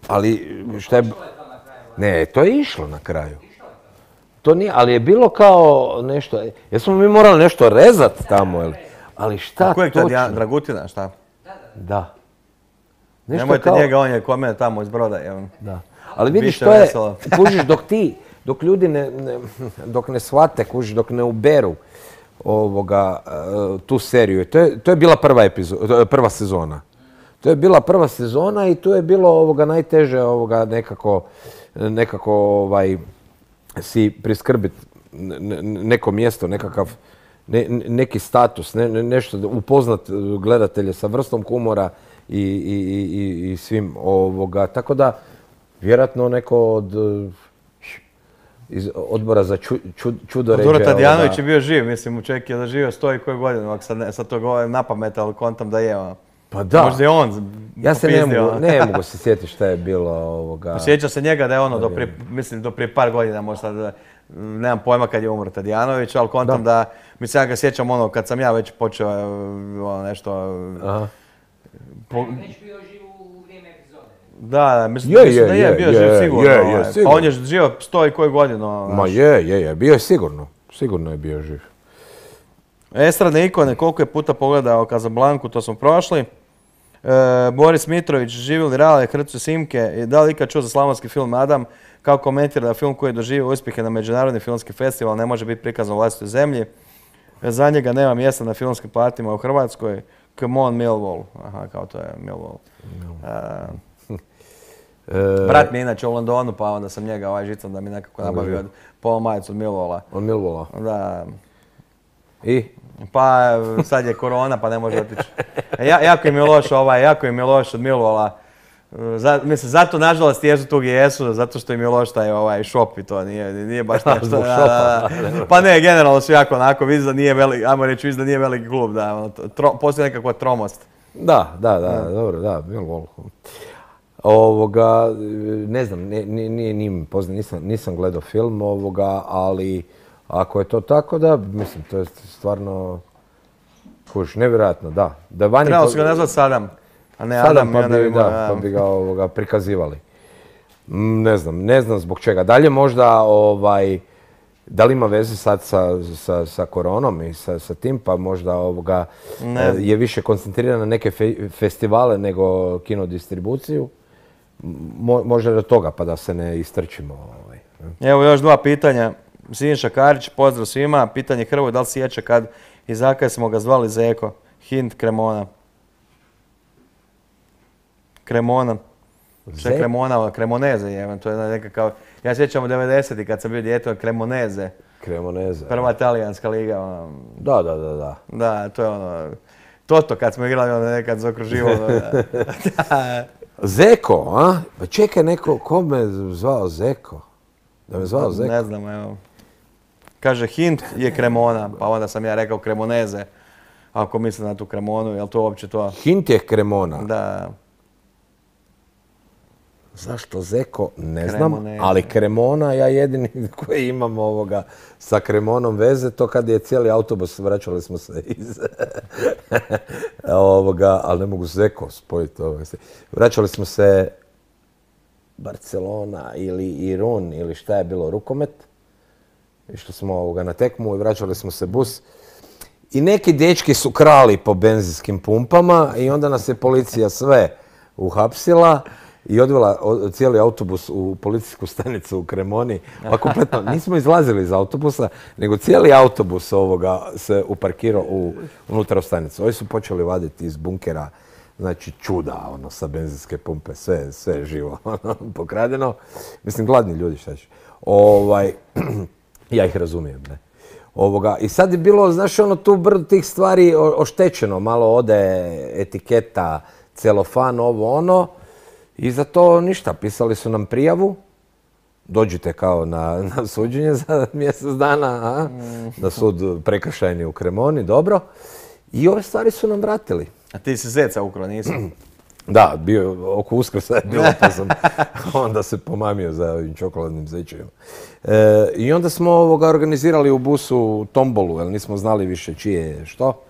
Ali šta je... Ne, to je išlo na kraju. To nije, ali je bilo kao nešto... Jesmo mi morali nešto rezati tamo, jel? Ali šta točno? Kojeg to Dragutina, šta? Da. Nemojte njega, on je kod mene tamo iz Broda. Da. Ali vidiš, to je, kužiš, dok ljudi dok ne shvate, kužiš, dok ne uberu tu seriju. To je bila prva sezona. To je bila prva sezona i tu je bilo najteže nekako si priskrbiti neko mjesto, nekakav neki status, nešto upoznat gledatelje sa vrstom humora i svim Tako da, vjerojatno neko od iz odbora za čudoređe. Duro Tadijanović je bio živ, mislim, čovjek je doživio 100 i koju godinu, ako sad to govorim na pamet, ali kontam da je. Pa da. Možda je on ja se ne mogu se sjetiti šta je bilo Sjeća se njega da je do prije par godina, možda nemam pojma kad je umro Tadijanović, ali kontam da, mislim, ja ga sjećam kad sam ja već počeo nešto... Već bio živ u vrijeme epizode. Da, mislim da je bio živ sigurno. Pa on je živio 100 i koju godinu. Ma je, bio je sigurno. Sigurno je bio živ. Estradne ikone, koliko je puta pogledao Casablancu, to smo prošli. Boris Mitrović, živjeli Rale, Hrcu Simke, da li ikad čuo za slavonski film Adam, kako komentira da film koji je doživio uspjehe na međunarodni filmski festival ne može biti prikazan u vlastitoj zemlji. Za njega nema mjesta na filmskim platima u Hrvatskoj. Come on Millwall. Aha, kao to je Millwall. Brat mi je inače u Londonu, pa onda sam njega žicom da mi nekako nabavio polo majicu od Millwalla. Od Millwalla? Da. I? Pa sad je korona pa ne može otići. Jako im je loš od Millwalla. Mislim, zato nažalost jesu tu gdje jesu, zato što im je loš taj ovaj šop i to nije baš nešto. Zbog šopa. Pa ne, generalno su jako onako, vidi da nije veliki, ajmo reći, vidi da nije veliki klub, da, postoji nekakva tromost. Da, dobro, da, Millwall. Ne znam, nije mi poznat, nisam gledao film ali ako je to tako, da, mislim, to je stvarno, nevjerojatno, da. Trebalo su ga nazvati Sadam, a ne Sadam, Adam. pa bi ga prikazivali. Ne znam zbog čega. Dalje možda, da li ima veze sad sa koronom i sa tim, pa možda je više koncentriran na neke festivale nego kinodistribuciju. Može do toga, pa da se ne istrčimo. Evo još 2 pitanja. Siniša Karić, pozdrav svima. Pitanje Hrvoje, da li sjeća kad i zakaj smo ga zvali Zeko? Hint Kremona. Kremona. Što je Kremona? Kremoneze je. To je nekakav... Ja sjećam u 90-ti kad sam bio dijete od Kremoneze. Kremoneze. Prva talijanska liga. Da. Da, to je ono... Toto kad smo igrali, ono nekad zaokruživalo. Zeko, a? Pa čekaj, ko me zvao Zeko? Da me zvao Zeko? Ne znam, evo. Kaže, hint je Kremona, pa onda sam ja rekao Kremoneze. Ako mislim na tu Kremonu, je li to uopće to? Hint je Kremona? Da. Zašto Zeko? Ne znam, ali Kremona, ja jedini koji imam sa Kremonom veze, to kad je cijeli autobus, vraćali smo se iz... ali ne mogu Zeko spojiti. Vraćali smo se Barcelona ili Irun ili šta je bilo, rukomet. Išli smo na tekmu i vraćali smo se bus. I neki dečki su krali po benzinskim pumpama i onda nas je policija sve uhapsila i odvela cijeli autobus u policijsku stanicu u Kremoni. Pa kompletno, nismo izlazili iz autobusa, nego cijeli autobus se uparkirao unutra u stanicu. Ovi su počeli vaditi iz bunkera, znači čuda, sa benzinske pumpe, sve živo, pokradeno. Mislim, gladni ljudi, šta će. Ja ih razumijem, ne. I sad je bilo, znaš, tu brdo tih stvari oštećeno. Malo ode etiketa, celofan, ono. I za to ništa. Pisali su nam prijavu. Dođite kao na suđenje za mjesec dana, na sud prekršajni u Kremoni, dobro. I ove stvari su nam vratili. A ti si zeca ukrao, nisi? Da, bio oko Uskrsa je bilo, pa sam onda se pomamio za ovim čokoladnim zečevima. I onda smo organizirali u busu tombolu, jer nismo znali više čije je što.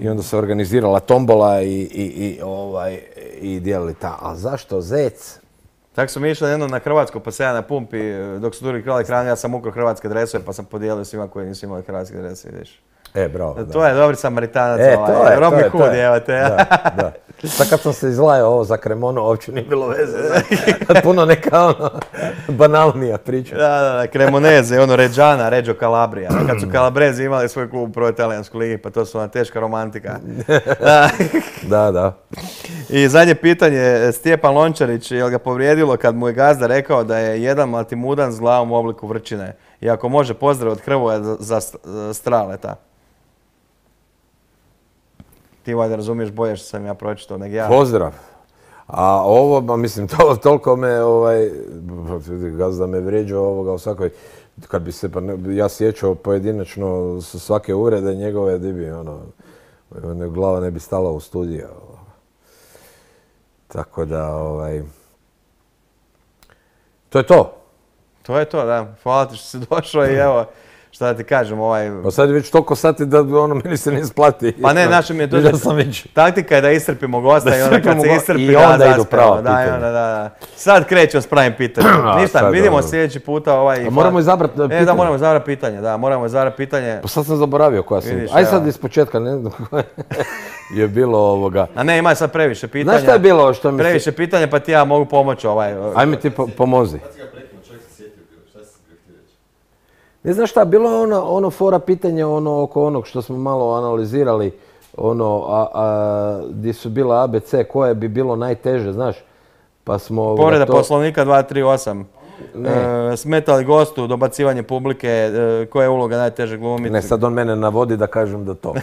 I onda se organizirala tombola i dijelili ta. A zašto zec? Tako smo išli jednom na Hrvatsku, pa se ja na pumpi, dok su drugi krali hranu, ja sam ukrao hrvatske dresove, pa sam podijelio svima koji nisu imali hrvatske dresove, vidiš. Bravo, da. To je dobri Samaritanac, Robin Hood, evo te. Da. Sad kad sam se izlajao ovo za Kremonu, uopće nije bilo veze. Puno neka banalnija priča. Da, Cremoneze, Reggiana, Reggio Calabria. Kad su Calabrezi imali svoj klub u prvoj italijanskoj ligi, pa to su ona teška romantika. Da. I zadnje pitanje, Stjepan Lončarić, je li ga povrijedilo kad mu je gazda rekao da je jedan maltimudan s glavom u obliku vrčine? I ako može, pozdrav od Hrvoja za Straleta. Ti valjda razumiješ bolje što sam ja pročitao nego ja. Pozdrav. A ovo, mislim, toliko me, gazda me vrijeđao u svakoj, kad bi se ja sjećao pojedinačno svake uvrede njegove, di bi, glava ne bi stala u studiju. Tako da, to je to. To je to, da. Hvala ti što si došao i evo, šta da ti kažem, Pa sad je već toliko sati da meni se ne isplati. Pa ne, naša mi je to taktika je da iscrpimo gosta i onda kad se iscrpi i onda idu prava pitanja. Da. Sad krećemo s pravim pitanjem. Ništa, vidimo sljedeći puta moramo izabrati pitanje. Da, moramo izabrati pitanje, Pa sad sam zaboravio koja sam. Aj sad iz početka, ne znam koja je bilo A ne, ima sad previše pitanja. Znaš šta je bilo što mi se... Previše pitanja, pa ti ja mogu pomoći Ajme ti pomozi. Ne znaš šta, bilo je ono fora pitanje oko onog što smo malo analizirali, gdje su bila ABC, koje bi bilo najteže, znaš, pa smo... Povreda poslovnika 238. Smeta li gostu dobacivanje publike, koja je uloga najteže glumiti? Ne, sad on mene navodi da kažem da to.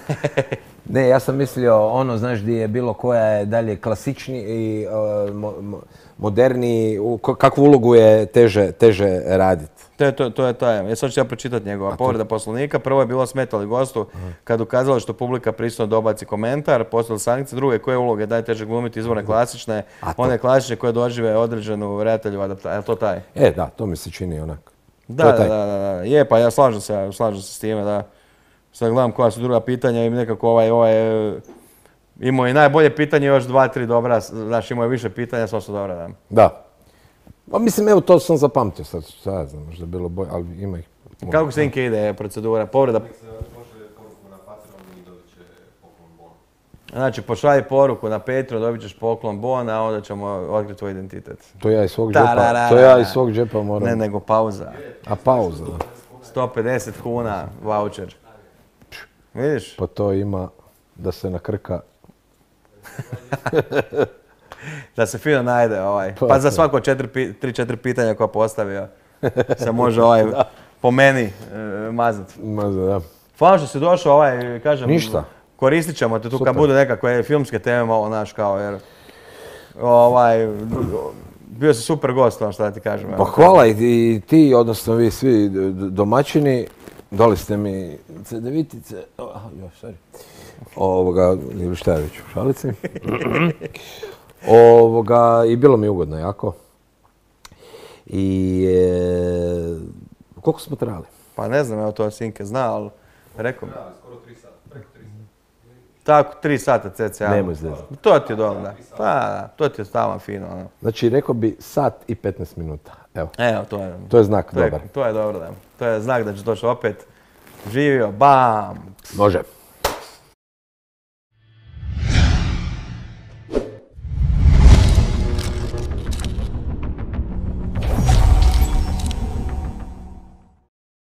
Ne, ja sam mislio ono, znaš, gdje je bilo koja je dalje klasičniji i moderniji, kakvu ulogu je teže raditi. To je taj. Ja sad ću ja pročitati njegova povreda poslovnika. Prvo je bilo smetali gostu kad ukazalo što publika prisutno dobaci komentar, postavili sankcije. Druge, koje uloge daje teže glumiti, izvorne klasične, one klasične koje dožive određenu redatelju adaptaciju. Je to taj? Da, to mi se čini onak. Da. Je, pa ja slažem se s time, da. Sad gledam koja su druga pitanja i nekako ovaj imao i najbolje pitanje, još 2-3 dobra, znači imao je više pitanja, sva su dobra, da. Da. Pa mislim, evo, to sam zapamtio sad, ja znam, možda je bilo bolje, ali ima ih. Kako se Inke ide procedura, povreda? Pošalje poruku na Patreon i dobit će poklon bon. Znači, pošalji poruku na Patreon, dobit ćeš poklon bon, a onda ćemo otkriti tvoj identitet. To ja iz svog džepa moram. Ne, nego pauza. A pauza, da. 150 kuna voucher. Vidiš? Pa to ima da se nakrka. Da se fino najde Pa za svako 3-4 pitanja koja postavio se može po meni mazati. Da. Hvala što si došao, kažem, ništa. Koristit ćemo te tu kad budu nekakve filmske teme malo naš kao jer bio si super gost, šta da ti kažem. Pa hvala i ti, odnosno vi svi domaćini, dali ste mi cedevitice, ili šta je već u šalici. I bilo mi ugodno jako. I koliko smo trajali? Pa ne znam, evo to Sinke zna, ali rekao mi. Skoro 3 sata, preko 3 sata. Tako, 3 sata cca. Nemoj zezati. To ti je dobro, da. Pa, to ti je stalno fino. Znači, rekao bi sat i 15 minuta. Evo, to je znak dobar. To je dobro, da. To je znak da ćeš doći opet. Živio, bam! Može.